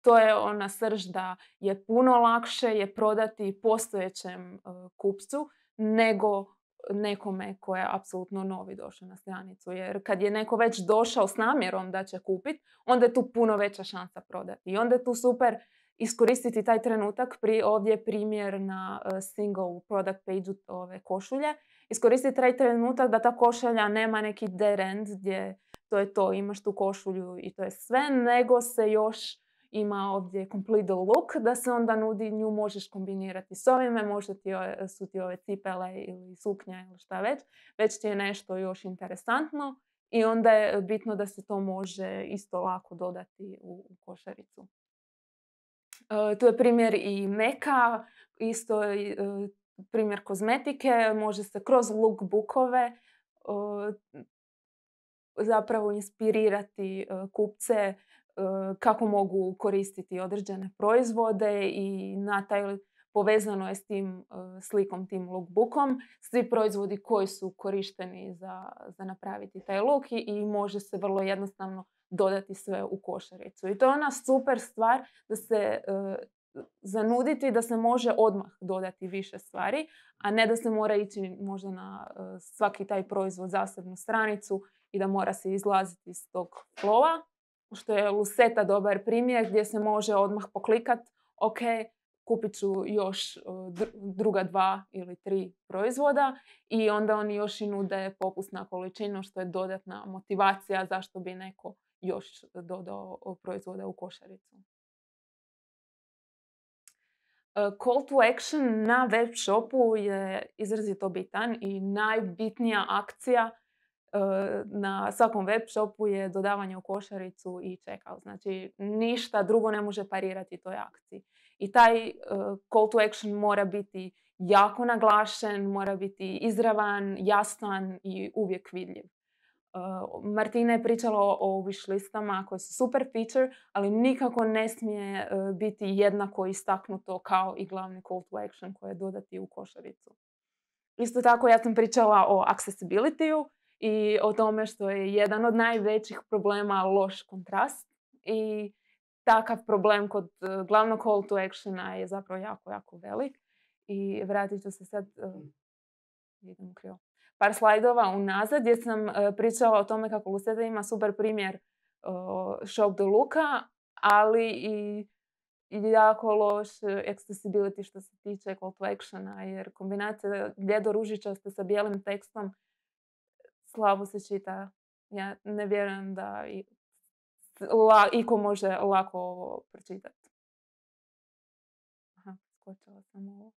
to je ona srž da je puno lakše je prodati postojećem kupcu nego nekome ko je apsolutno novi došao na stranicu. Jer kad je neko već došao s namjerom da će kupiti, onda je tu puno veća šansa prodati. I onda je tu super iskoristiti taj trenutak. Pri, ovdje je primjer na uh, single product page ove košulje. Iskoristiti taj trenutak da ta košulja nema neki dead end gdje to je to, imaš tu košulju i to je sve, nego se još ima ovdje complete the look, da se onda nudi, nju možeš kombinirati s ovime, možda ti su ti ove cipele ili suknja ili šta već, već ti je nešto još interesantno i onda je bitno da se to može isto lako dodati u, u košaricu. Uh, tu je primjer i meka, isto uh, primjer kozmetike, može se kroz lookbookove uh, zapravo inspirirati uh, kupce uh, kako mogu koristiti određene proizvode i na taj povezano je s tim uh, slikom, tim lookbookom, svi proizvodi koji su korišteni za, za napraviti taj look i, i može se vrlo jednostavno dodati sve u košaricu. I to je ona super stvar da se uh, zanuditi da se može odmah dodati više stvari, a ne da se mora ići možda na uh, svaki taj proizvod zasebnu stranicu i da mora se izlaziti iz tog flowa, što je Luceta dobar primjer gdje se može odmah poklikat, ok, kupit ću još druga dva ili tri proizvoda i onda oni još i nude popust na količinu, što je dodatna motivacija zašto bi neko još dodao proizvode u košaricu. Call to action na web shopu je izrazito bitan i najbitnija akcija na svakom web shopu je dodavanje u košaricu i checkout. Znači, ništa drugo ne može parirati toj akciji. I taj uh, call to action mora biti jako naglašen, mora biti izravan, jasan i uvijek vidljiv. Uh, Martina je pričala o, o wish listama koje su super feature, ali nikako ne smije uh, biti jednako istaknuto kao i glavni call to action koji je dodati u košaricu. Isto tako ja sam pričala o accessibility-u i o tome što je jedan od najvećih problema loš kontrast i takav problem kod uh, glavnog call to actiona je zapravo jako, jako velik. I vratit ću se sad, uh, idem krivo, par slajdova unazad gdje sam uh, pričala o tome kako Luceta ima super primjer uh, Shop the Looka, ali i, i jako loš accessibility što se tiče call to actiona, jer kombinacija bljedo ružičaste sa bijelim tekstom slabo se čita. Ja ne vjerujem da i, la, iko može lako ovo pročitati. Aha, skočila sam ovo.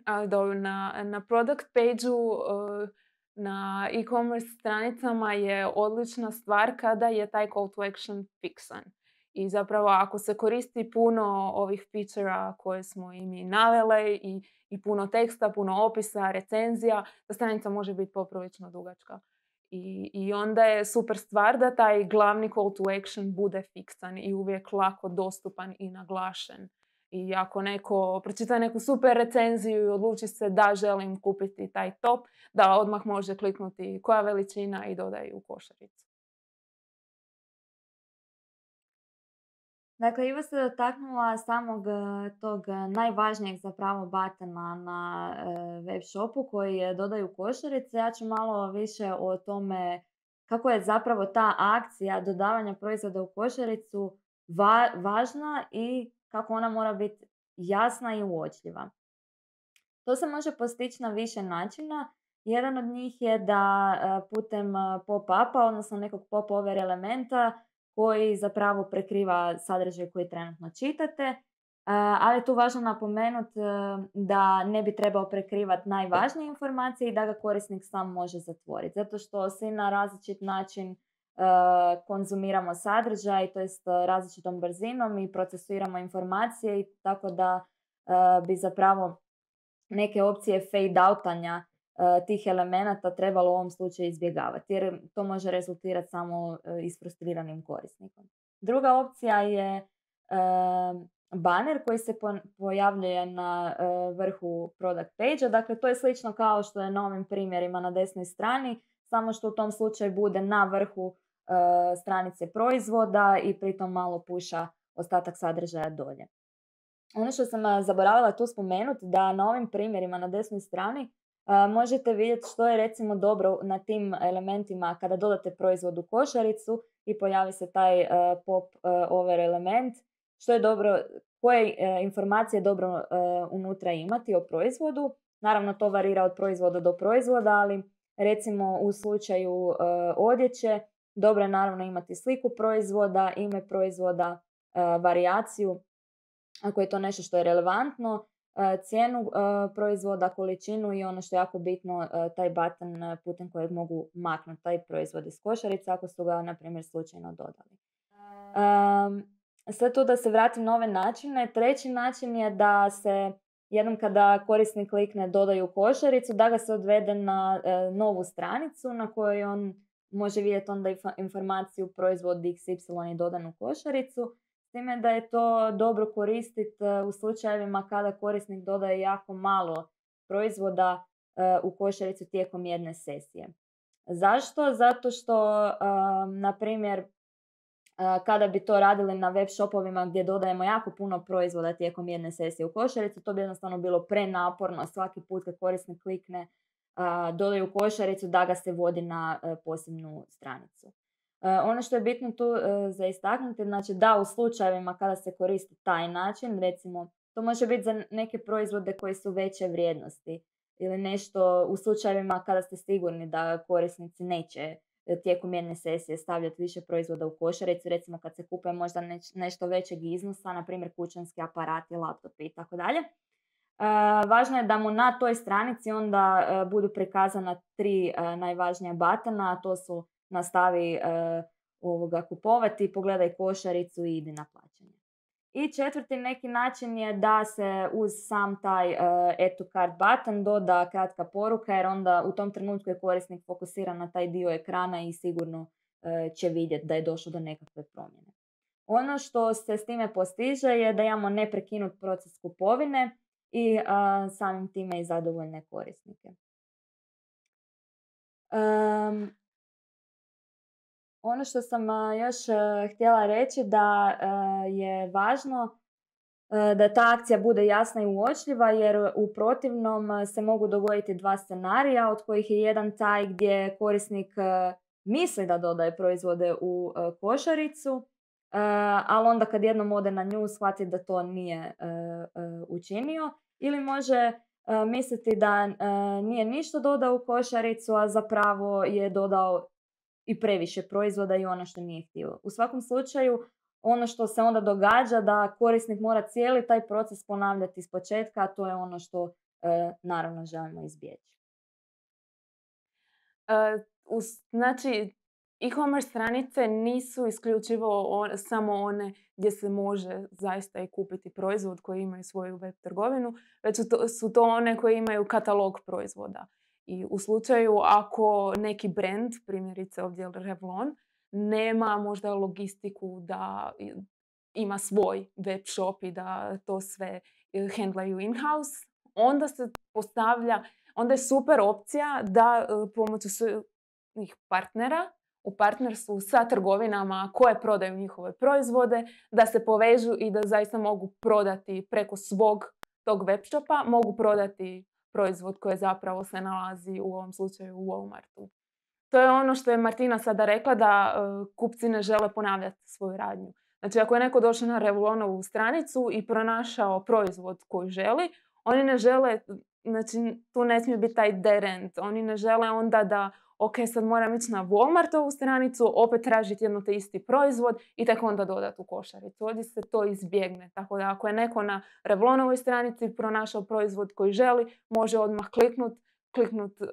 Ali dobro, na, na product page-u, uh, na e-commerce stranicama je odlična stvar kada je taj call to action fiksan. I zapravo ako se koristi puno ovih feature-a koje smo i mi navele i, i puno teksta, puno opisa, recenzija, ta stranica može biti poprilično dugačka. I, I onda je super stvar da taj glavni call to action bude fiksan i uvijek lako dostupan i naglašen. I ako neko pročita neku super recenziju i odluči se da želim kupiti taj top, da odmah može kliknuti koja veličina i dodaje u košaricu. Dakle, Iva se dotaknula samog e, tog e, najvažnijeg zapravo batena na e, web shopu koji je dodaju košarice. Ja ću malo više o tome kako je zapravo ta akcija dodavanja proizvoda u košaricu va- važna i kako ona mora biti jasna i uočljiva. To se može postići na više načina. Jedan od njih je da e, putem e, pop-upa, odnosno nekog pop-over elementa koji zapravo prekriva sadržaj koji trenutno čitate, e, ali je tu važno napomenuti da ne bi trebao prekrivati najvažnije informacije i da ga korisnik sam može zatvoriti. Zato što svi na različit način e, konzumiramo sadržaj, to jest različitom brzinom i procesuiramo informacije i tako da e, bi zapravo neke opcije fade-outanja uh, tih elemenata trebalo u ovom slučaju izbjegavati, jer to može rezultirati samo uh, isfrustriranim korisnikom. Druga opcija je uh, banner koji se po- pojavljuje na uh, vrhu product page-a. Dakle, to je slično kao što je na ovim primjerima na desnoj strani, samo što u tom slučaju bude na vrhu uh, stranice proizvoda i pritom malo puša ostatak sadržaja dolje. Ono što sam zaboravila tu spomenuti, da na ovim primjerima na desnoj strani a, možete vidjeti što je recimo dobro na tim elementima kada dodate proizvod u košaricu i pojavi se taj a, pop a, over element, što je dobro, koje a, informacije dobro a, unutra imati o proizvodu. Naravno to varira od proizvoda do proizvoda, ali recimo u slučaju a, odjeće dobro je naravno imati sliku proizvoda, ime proizvoda, a, varijaciju ako je to nešto što je relevantno, cijenu proizvoda, količinu i ono što je jako bitno, taj button putem kojeg mogu maknuti taj proizvod iz košarice ako su ga, na primjer, slučajno dodali. Um, sad tu da se vratim na ove načine. Treći način je da se jednom kada korisnik klikne dodaju u košaricu, da ga se odvede na uh, novu stranicu na kojoj on može vidjeti onda informaciju proizvod iks ipsilon je dodan u košaricu. S time da je to dobro koristiti u slučajevima kada korisnik dodaje jako malo proizvoda u košaricu tijekom jedne sesije. Zašto? Zato što, na primjer, kada bi to radili na web shopovima gdje dodajemo jako puno proizvoda tijekom jedne sesije u košaricu, to bi jednostavno bilo prenaporno svaki put kad korisnik klikne dodaju u košaricu da ga se vodi na posebnu stranicu. Uh, ono što je bitno tu uh, za istaknuti, znači da u slučajevima kada se koristi taj način, recimo to može biti za neke proizvode koji su veće vrijednosti ili nešto u slučajevima kada ste sigurni da korisnici neće tijekom jedne sesije stavljati više proizvoda u košaricu, recimo kad se kupuje možda neć, nešto većeg iznosa, na primjer kućanski aparati, laptopi i tako dalje. Važno je da mu na toj stranici onda uh, budu prikazana tri uh, najvažnija batona, a to su nastavi uh, ovoga kupovati, pogledaj košaricu i idi na plaćanje. I četvrti neki način je da se uz sam taj uh, add to cart button doda kratka poruka, jer onda u tom trenutku je korisnik fokusiran na taj dio ekrana i sigurno uh, će vidjeti da je došlo do nekakve promjene. Ono što se s time postiže je da imamo neprekinut proces kupovine i uh, samim time i zadovoljne korisnike. Um, Ono što sam još htjela reći da je važno da ta akcija bude jasna i uočljiva, jer u protivnom se mogu dogoditi dva scenarija, od kojih je jedan taj gdje korisnik misli da dodaje proizvode u košaricu, ali onda kad jednom ode na nju shvati da to nije učinio, ili može misliti da nije ništa dodao u košaricu, a zapravo je dodao i previše proizvoda i ono što nije htio. U svakom slučaju, ono što se onda događa da korisnik mora cijeli taj proces ponavljati iz početka, a to je ono što e, naravno želimo izbjeći. Uh, uz, znači, e-commerce stranice nisu isključivo on, samo one gdje se može zaista i kupiti proizvod koji imaju svoju web trgovinu, već su to, su to one koje imaju katalog proizvoda. I u slučaju ako neki brand, primjerice ovdje Revlon, nema možda logistiku da ima svoj web shop i da to sve handlaju in-house, onda se postavlja, onda je super opcija da pomoću svojih partnera u partnerstvu sa trgovinama koje prodaju njihove proizvode, da se povežu i da zaista mogu prodati preko svog tog web shopa, mogu prodati proizvod koji zapravo se nalazi u ovom slučaju u Walmartu. To je ono što je Martina sada rekla, da uh, kupci ne žele ponavljati svoju radnju. Znači, ako je neko došao na Revulonovu stranicu i pronašao proizvod koji želi, oni ne žele, znači, tu ne smije biti taj dead end. Oni ne žele onda da, ok, sad moram ići na Walmartovu stranicu, opet tražiti jedno te isti proizvod i tek onda dodati u košaricu. Ovdje se to izbjegne. Tako da ako je neko na Revulonovoj stranici pronašao proizvod koji želi, može odmah kliknuti, kliknut uh,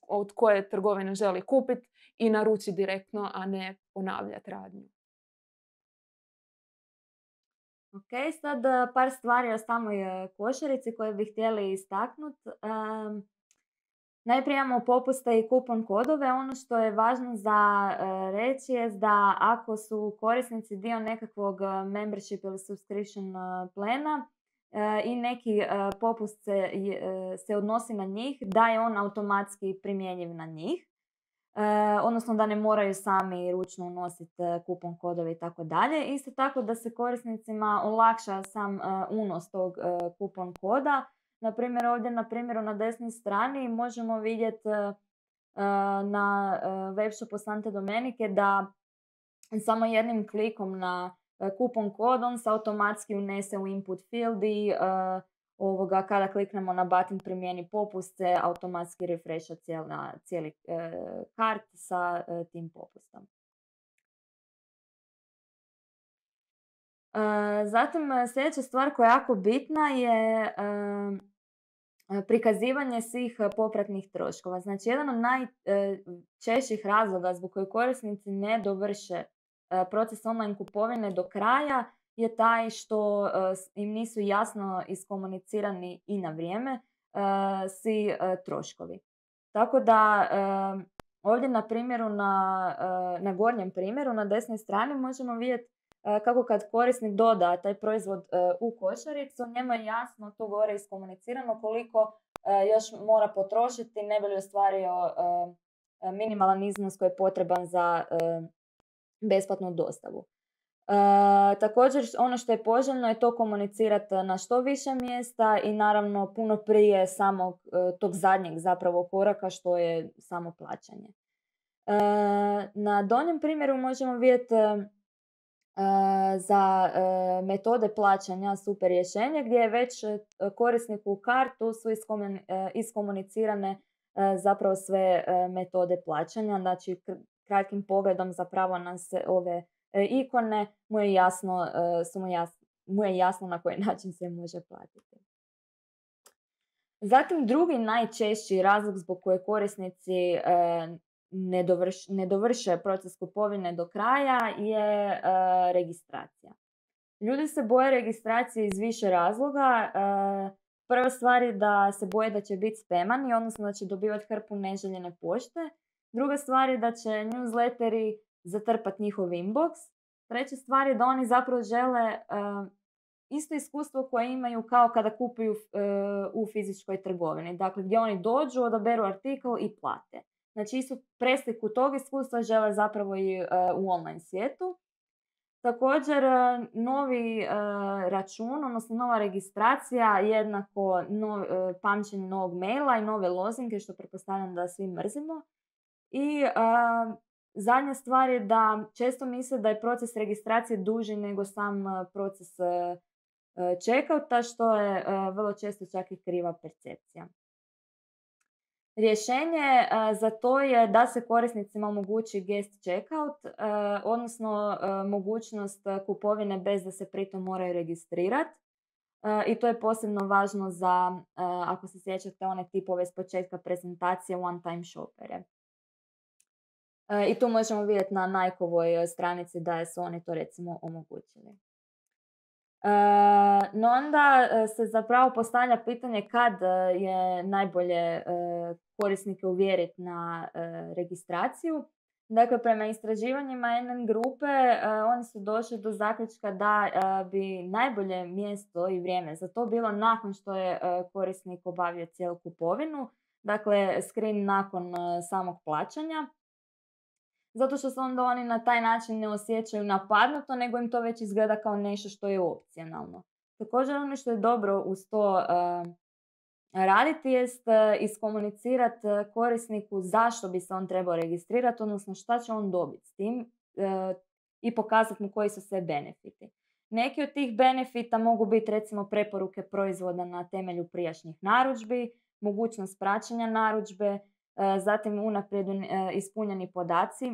od koje trgovine želi kupiti i naručiti direktno, a ne ponavljati radnju. Ok, sad par stvari o samoj košarici koje bih htjeli istaknuti. Um, najprije imamo popuste i kupon kodove. Ono što je važno za uh, reći je da ako su korisnici dio nekakvog membership ili subscription uh, plana, i neki uh, popust se, uh, se odnosi na njih, da je on automatski primjenjiv na njih. Uh, odnosno da ne moraju sami ručno unositi uh, kupon kodove i tako dalje. Isto tako da se korisnicima olakša sam uh, unos tog uh, kupon koda. Naprimjer, ovdje na primjeru na desnoj strani možemo vidjeti uh, uh, na uh, web shopu Sante Domenike da samo jednim klikom na kupon kod, on se automatski unese u input field i uh, ovoga, kada kliknemo na button primjeni popust se automatski refresha cijela, cijeli uh, kart sa uh, tim popustom. Uh, zatim sljedeća stvar koja je jako bitna je uh, prikazivanje svih popratnih troškova. Znači, jedan od najčešćih razloga zbog kojih korisnici ne dovrše proces online kupovine do kraja je taj što uh, im nisu jasno iskomunicirani i na vrijeme uh, svi uh, troškovi. Tako da uh, ovdje na primjeru, na, uh, na gornjem primjeru, na desnoj strani možemo vidjeti uh, kako kad korisnik doda taj proizvod uh, u košaricu, njemu je jasno tu gore iskomunicirano koliko uh, još mora potrošiti ne bi li ostvario uh, minimalan iznos koji je potreban za uh, besplatnu dostavu. E, također ono što je poželjno je to komunicirati na što više mjesta i naravno puno prije samog e, tog zadnjeg zapravo koraka što je samo plaćanje. E, na donjem primjeru možemo vidjeti e, za e, metode plaćanja super rješenje gdje je već korisniku u kartu su iskomunicirane e, zapravo sve e, metode plaćanja. Znači kratkim pogledom zapravo na se ove e, ikone mu je jasno, e, su mu, jasno, mu je jasno na koji način se može platiti. Zatim drugi najčešći razlog zbog koje korisnici e, ne, dovrš, ne dovrše proces kupovine do kraja je e, registracija. Ljudi se boje registracije iz više razloga. E, prva stvar je da se boje da će biti spamani, odnosno da će dobivati hrpu neželjene pošte. Druga stvar je da će newsletteri zatrpati njihov inbox. Treća stvar je da oni zapravo žele uh, isto iskustvo koje imaju kao kada kupuju uh, u fizičkoj trgovini. Dakle, gdje oni dođu, odaberu artikl i plate. Znači, isto presliku tog iskustva žele zapravo i uh, u online svijetu. Također, uh, novi uh, račun, odnosno nova registracija, jednako nov, uh, pamćenje novog maila i nove lozinke, što pretpostavljam da svi mrzimo. I uh, zadnja stvar je da često misle da je proces registracije duži nego sam uh, proces uh, checkouta, što je uh, vrlo često čak i kriva percepcija. Rješenje uh, za to je da se korisnicima omogući guest checkout, uh, odnosno uh, mogućnost kupovine bez da se pritom moraju registrirati. Uh, I to je posebno važno za, uh, ako se sjećate, one tipove s početka prezentacije one-time shopere. Uh, I tu možemo vidjeti na Nikeovoj stranici da su oni to recimo omogućili. Uh, no onda se zapravo postavlja pitanje kad je najbolje uh, korisnike uvjeriti na uh, registraciju. Dakle, prema istraživanjima N N grupe uh, oni su došli do zaključka da uh, bi najbolje mjesto i vrijeme za to bilo nakon što je uh, korisnik obavio cijelu kupovinu. Dakle, screen nakon uh, samog plaćanja. zato što se onda oni na taj način ne osjećaju napadnuto, nego im to već izgleda kao nešto što je opcionalno. Također ono što je dobro uz to uh, raditi jest uh, iskomunicirati uh, korisniku zašto bi se on trebao registrirati, odnosno šta će on dobiti s tim uh, i pokazati mu koji su sve benefiti. Neki od tih benefita mogu biti recimo preporuke proizvoda na temelju prijašnjih narudžbi, mogućnost praćenja narudžbe, zatim unaprijed ispunjeni podaci.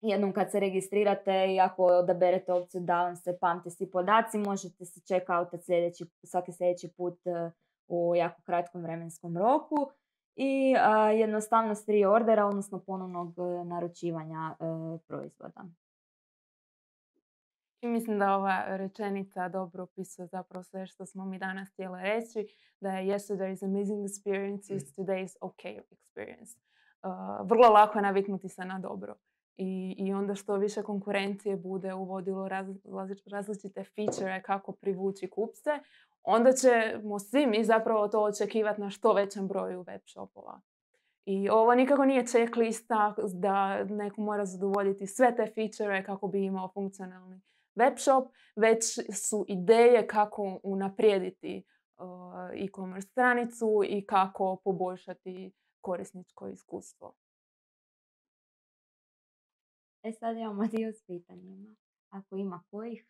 Jednom kad se registrirate i ako odaberete opciju da vam se pamte svi podaci, možete se check-outat sljedeći, svaki sljedeći put u jako kratkom vremenskom roku i jednostavnost reordera, odnosno ponovnog naručivanja proizvoda. I mislim da ova rečenica dobro opisuje zapravo sve što smo mi danas htjeli reći, da je yesterday's amazing experience is today's okay experience. Uh, vrlo lako je naviknuti se na dobro. I, I onda što više konkurencije bude uvodilo raz, različite feature kako privući kupce, onda ćemo svi mi zapravo to očekivati na što većem broju web shopova. I ovo nikako nije checklista da neko mora zadovoljiti sve te feature kako bi imao funkcionalni web shop, već su ideje kako unaprijediti uh, e-commerce stranicu i kako poboljšati korisničko iskustvo. E sad imamo dio s pitanjima. Ako ima kojih?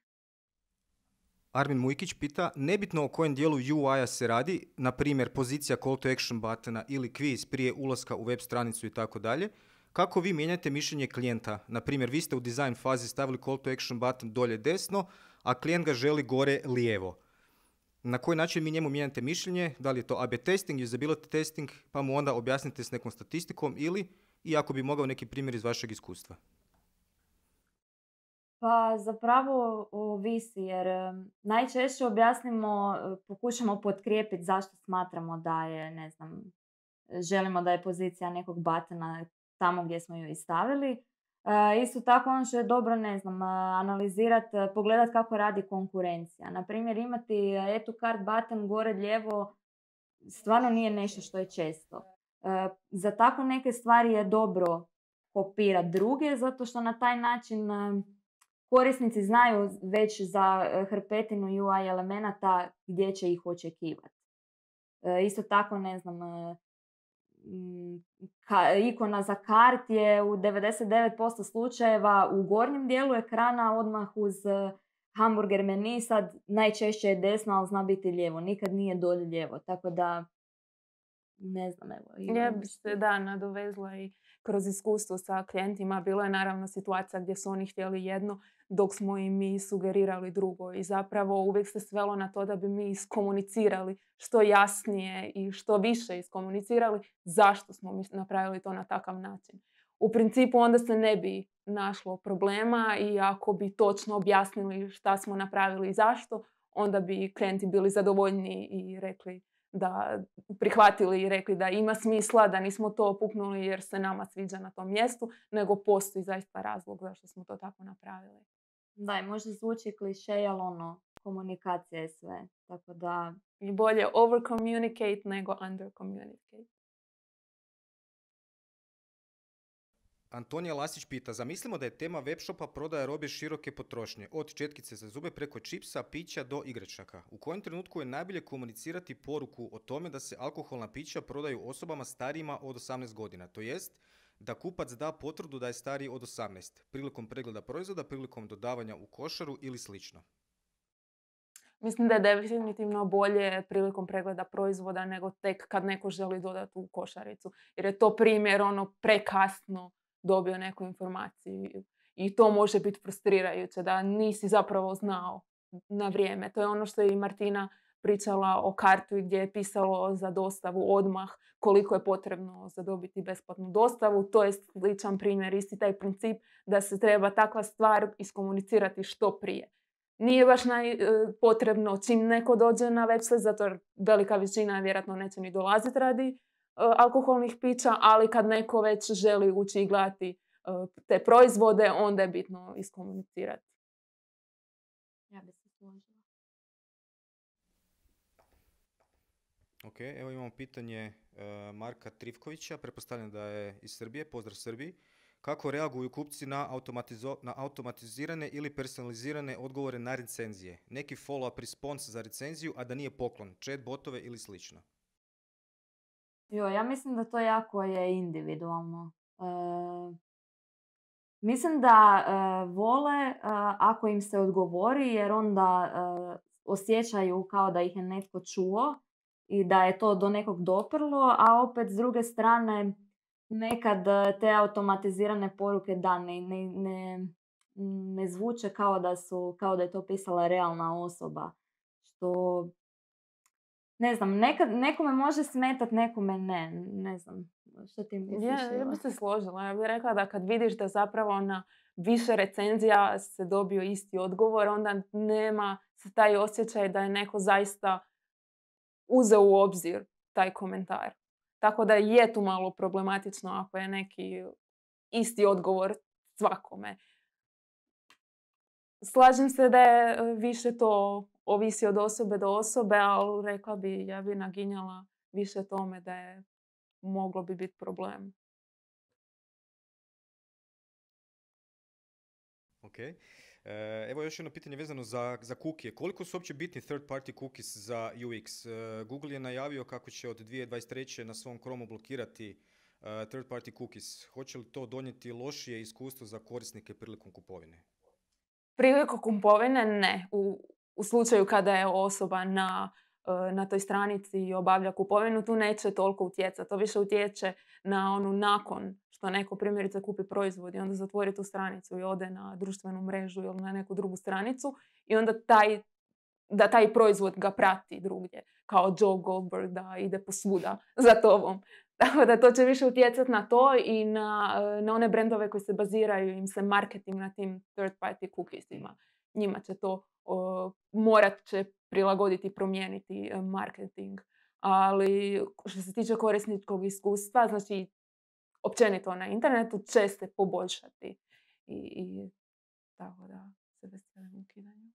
Armin Mujkić pita, nebitno o kojem dijelu U I-a se radi, na primjer pozicija call to action buttona ili kviz prije ulaska u web stranicu i tako dalje, kako vi mijenjate mišljenje klijenta? Na primjer, vi ste u design fazi stavili call to action button dolje desno, a klijent ga želi gore lijevo. Na koji način mi njemu mijenjate mišljenje? Da li je to A B testing, usability testing, pa mu onda objasnite s nekom statistikom ili, i ako bi mogao neki primjer iz vašeg iskustva? Pa zapravo ovisi jer najčešće objasnimo, pokušamo potkrijepiti zašto smatramo da je, ne znam, želimo da je pozicija nekog batona tamo gdje smo ju i stavili. Uh, isto tako ono što je dobro, ne znam, analizirati, pogledati kako radi konkurencija. Naprimjer, imati add to cart button gore lijevo stvarno nije nešto što je često. Uh, za tako neke stvari je dobro kopirati druge, zato što na taj način uh, korisnici znaju već za hrpetinu U I elemenata gdje će ih očekivati. Uh, isto tako, ne znam, uh, Ka, ikona za kart je u devedeset devet posto slučajeva u gornjem dijelu ekrana odmah uz hamburger meni, sad najčešće je desno, ali zna biti lijevo, nikad nije dolje lijevo, tako da ne znam, evo. Ja bi se da nadovezla i kroz iskustvo sa klijentima. Bilo je naravno situacija gdje su oni htjeli jedno, dok smo im mi sugerirali drugo. I zapravo uvijek se svelo na to da bi mi iskomunicirali što jasnije i što više iskomunicirali zašto smo mi napravili to na takav način. U principu onda se ne bi našlo problema i ako bi točno objasnili šta smo napravili i zašto, onda bi klijenti bili zadovoljni i rekli da prihvatili i rekli da ima smisla, da nismo to puknuli jer se nama sviđa na tom mjestu, nego postoji zaista razlog zašto smo to tako napravili. Da, i možda zvuči klišej, ali ono, komunikacija je sve. Tako da... I bolje over communicate nego under communicate. Antonija Lasić pita, zamislimo da je tema webshopa prodaja robe široke potrošnje, od četkice za zube preko čipsa, pića do igračaka. U kojem trenutku je najbolje komunicirati poruku o tome da se alkoholna pića prodaju osobama starijima od osamnaest godina, to jest da kupac da potvrdu da je stariji od osamnaest, prilikom pregleda proizvoda, prilikom dodavanja u košaru ili slično? Mislim da je definitivno bolje prilikom pregleda proizvoda nego tek kad neko želi dodati u košaricu. Jer je to primjer ono prekasno dobio neku informaciju i to može biti frustrirajuće da nisi zapravo znao na vrijeme. To je ono što je i Martina pričala o kartu gdje je pisalo za dostavu odmah koliko je potrebno za dobiti besplatnu dostavu. To je sličan primjer, isti taj princip da se treba takva stvar iskomunicirati što prije. Nije baš naj, potrebno čim neko dođe na website, zato jer velika većina vjerojatno neće ni dolaziti radi alkoholnih pića, ali kad neko već želi ući i gledati uh, te proizvode, onda je bitno iskomunicirati. Ja bi se složila. Ok, evo imamo pitanje uh, Marka Trivkovića, pretpostavljam da je iz Srbije, pozdrav Srbiji. kako reaguju kupci na, automatizo- na automatizirane ili personalizirane odgovore na recenzije. Neki follow-up response za recenziju, a da nije poklon, chat botove ili slično. Jo, ja mislim da to jako je individualno. E, mislim da e, vole e, ako im se odgovori, jer onda e, osjećaju kao da ih je netko čuo i da je to do nekog doprlo, a opet s druge strane nekad te automatizirane poruke da ne, ne, ne, ne zvuče kao da su, kao da je to pisala realna osoba. Što, ne znam, nekad, nekome može smetat, nekome ne. Ne znam, što ti misliš? Ja, ja Eva? bih se složila. Ja bih rekla da kad vidiš da zapravo na više recenzija se dobio isti odgovor, onda nema se taj osjećaj da je neko zaista uzeo u obzir taj komentar. Tako da je tu malo problematično ako je neki isti odgovor svakome. Slažem se da je više to ovisi od osobe do osobe, ali rekla bi, ja bi naginjala više tome da je moglo bi biti problem. Ok. E, evo još jedno pitanje vezano za, za cookie. Koliko su uopće bitni third party cookies za U X? E, Google je najavio kako će od dvije tisuće dvadeset treće na svom Chromeu blokirati uh, third party cookies. Hoće li to donijeti lošije iskustvo za korisnike prilikom kupovine? Prilikom kupovine ne. U, u slučaju kada je osoba na, na toj stranici i obavlja kupovinu, tu neće toliko utjecati. To više utječe na onu nakon što neko primjerice kupi proizvod i onda zatvori tu stranicu i ode na društvenu mrežu ili na neku drugu stranicu i onda taj, da taj proizvod ga prati drugdje. Kao Joe Goldberg da ide posvuda za tobom. Tako da to će više utjecati na to i na, na one brendove koji se baziraju, im se marketing na tim third party cookiesima. Njima će to uh, morat će prilagoditi i promijeniti uh, marketing. Ali što se tiče korisničkog iskustva, znači općenito na internetu će se poboljšati. I, i tako da se veselim ukidanju.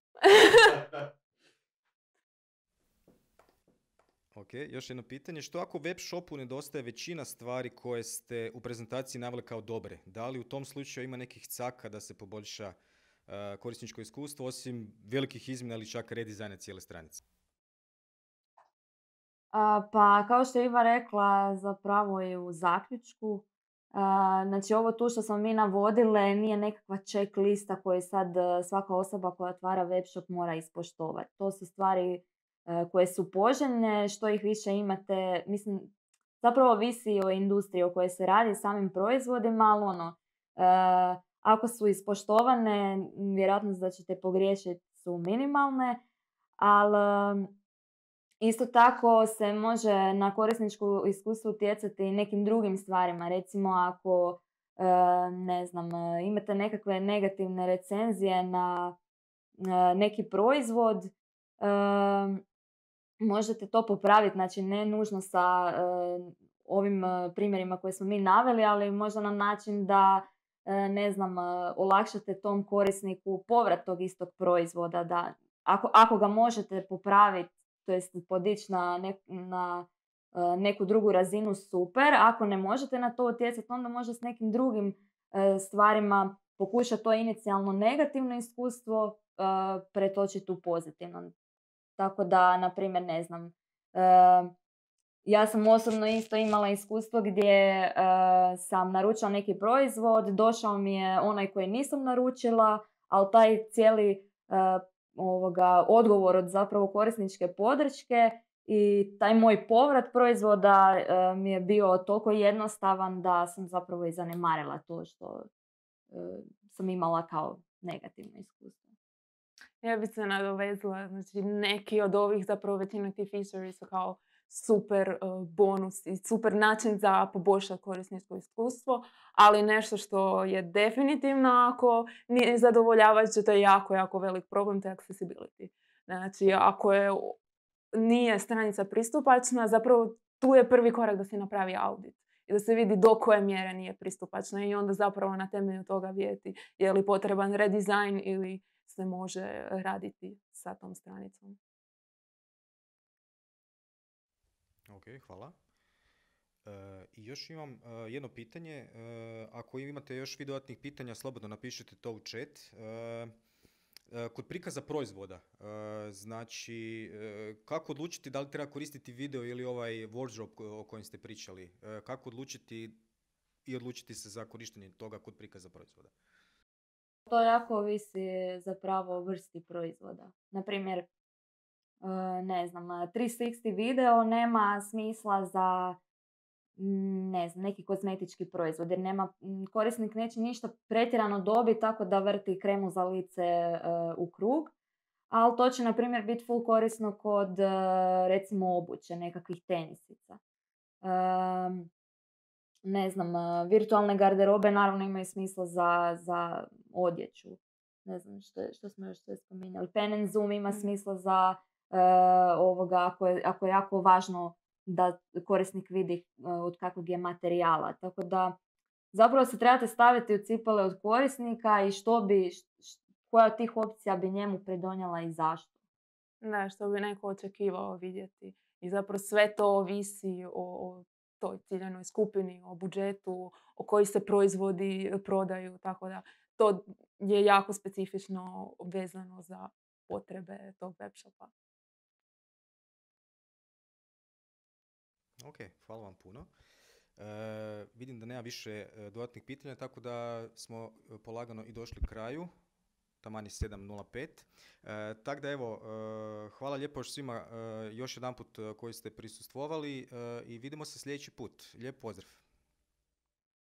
Ok, još jedno pitanje. Što ako web shopu nedostaje većina stvari koje ste u prezentaciji naveli kao dobre? Da li u tom slučaju ima nekih caka da se poboljša uh, korisničko iskustvo, osim velikih izmjena ili čak redizajna cijele stranice? A, pa kao što je Iva rekla, zapravo je u zaključku. A, znači ovo tu što smo mi navodile nije nekakva check lista koju sad svaka osoba koja otvara web shop mora ispoštovati. To su stvari koje su poželjne, što ih više imate, mislim, zapravo visi o industriji o kojoj se radi, samim proizvodima, ali ono, e, ako su ispoštovane, vjerojatnost da ćete pogriješiti su minimalne, ali isto tako se može na korisničko iskustvo utjecati i nekim drugim stvarima. Recimo ako, e, ne znam, imate nekakve negativne recenzije na e, neki proizvod, e, možete to popraviti, znači ne nužno sa uh, ovim uh, primjerima koje smo mi naveli, ali možda na način da, uh, ne znam, uh, olakšate tom korisniku povrat tog istog proizvoda. Da, ako, ako ga možete popraviti, to jest podići na, ne, na uh, neku drugu razinu, super. Ako ne možete na to utjecati, onda može s nekim drugim uh, stvarima pokušati to inicijalno negativno iskustvo uh, pretočiti u pozitivno. Tako da, na primjer, ne znam, uh, ja sam osobno isto imala iskustvo gdje uh, sam naručila neki proizvod, došao mi je onaj koji nisam naručila, ali taj cijeli uh, ovoga, odgovor od zapravo korisničke podrške i taj moj povrat proizvoda uh, mi je bio toliko jednostavan da sam zapravo i zanemarila to što uh, sam imala kao negativno iskustvo. Ja bih se nadovezala, znači neki od ovih zapravo većina tih features su kao super uh, bonus i super način za poboljšati korisničko iskustvo, ali nešto što je definitivno ako nije zadovoljavajuće, to je jako, jako velik problem, to je accessibility. Znači ako je, nije stranica pristupačna, zapravo tu je prvi korak da se napravi audit i da se vidi do koje mjere nije pristupačna i onda zapravo na temelju toga vidjeti je li potreban redizajn ili se može raditi sa tom stranicom. Ok, hvala. E, I još imam uh, jedno pitanje. Uh, ako imate još vi dodatnih pitanja, slobodno napišite to u chat. Uh, uh, kod prikaza proizvoda, uh, znači uh, kako odlučiti da li treba koristiti video ili ovaj wardrobe o kojem ste pričali? Uh, kako odlučiti i odlučiti se za korištenje toga kod prikaza proizvoda? To jako ovisi zapravo o vrsti proizvoda. Naprimjer, ne znam, tristo šezdeset video nema smisla za ne znam, neki kozmetički proizvod, jer nema, korisnik neće ništa pretjerano dobiti tako da vrti kremu za lice uh, u krug, ali to će, na primjer, biti full korisno kod, uh, recimo, obuće, nekakvih tenisica. Uh, ne znam, uh, virtualne garderobe naravno imaju smisla za, za odjeću. Ne znam što, što smo još sve spominjali. Pen and Zoom ima smisla za uh, ovoga, ako je, ako je jako važno da korisnik vidi od kakvog je materijala. Tako da zapravo se trebate staviti u cipele od korisnika i što bi, koja od tih opcija bi njemu pridonijela i zašto. Da, što bi neko očekivao vidjeti. I zapravo sve to ovisi o, o toj ciljanoj skupini, o budžetu, o koji se proizvodi prodaju. Tako da to je jako specifično vezano za potrebe tog web shopa. Ok, hvala vam puno. E, vidim da nema više e, dodatnih pitanja, tako da smo polagano i došli kraju. Taman je sedam nula pet. E, tako da evo, e, hvala lijepo još svima e, još jedan put koji ste prisustvovali e, i vidimo se sljedeći put. Lijep pozdrav.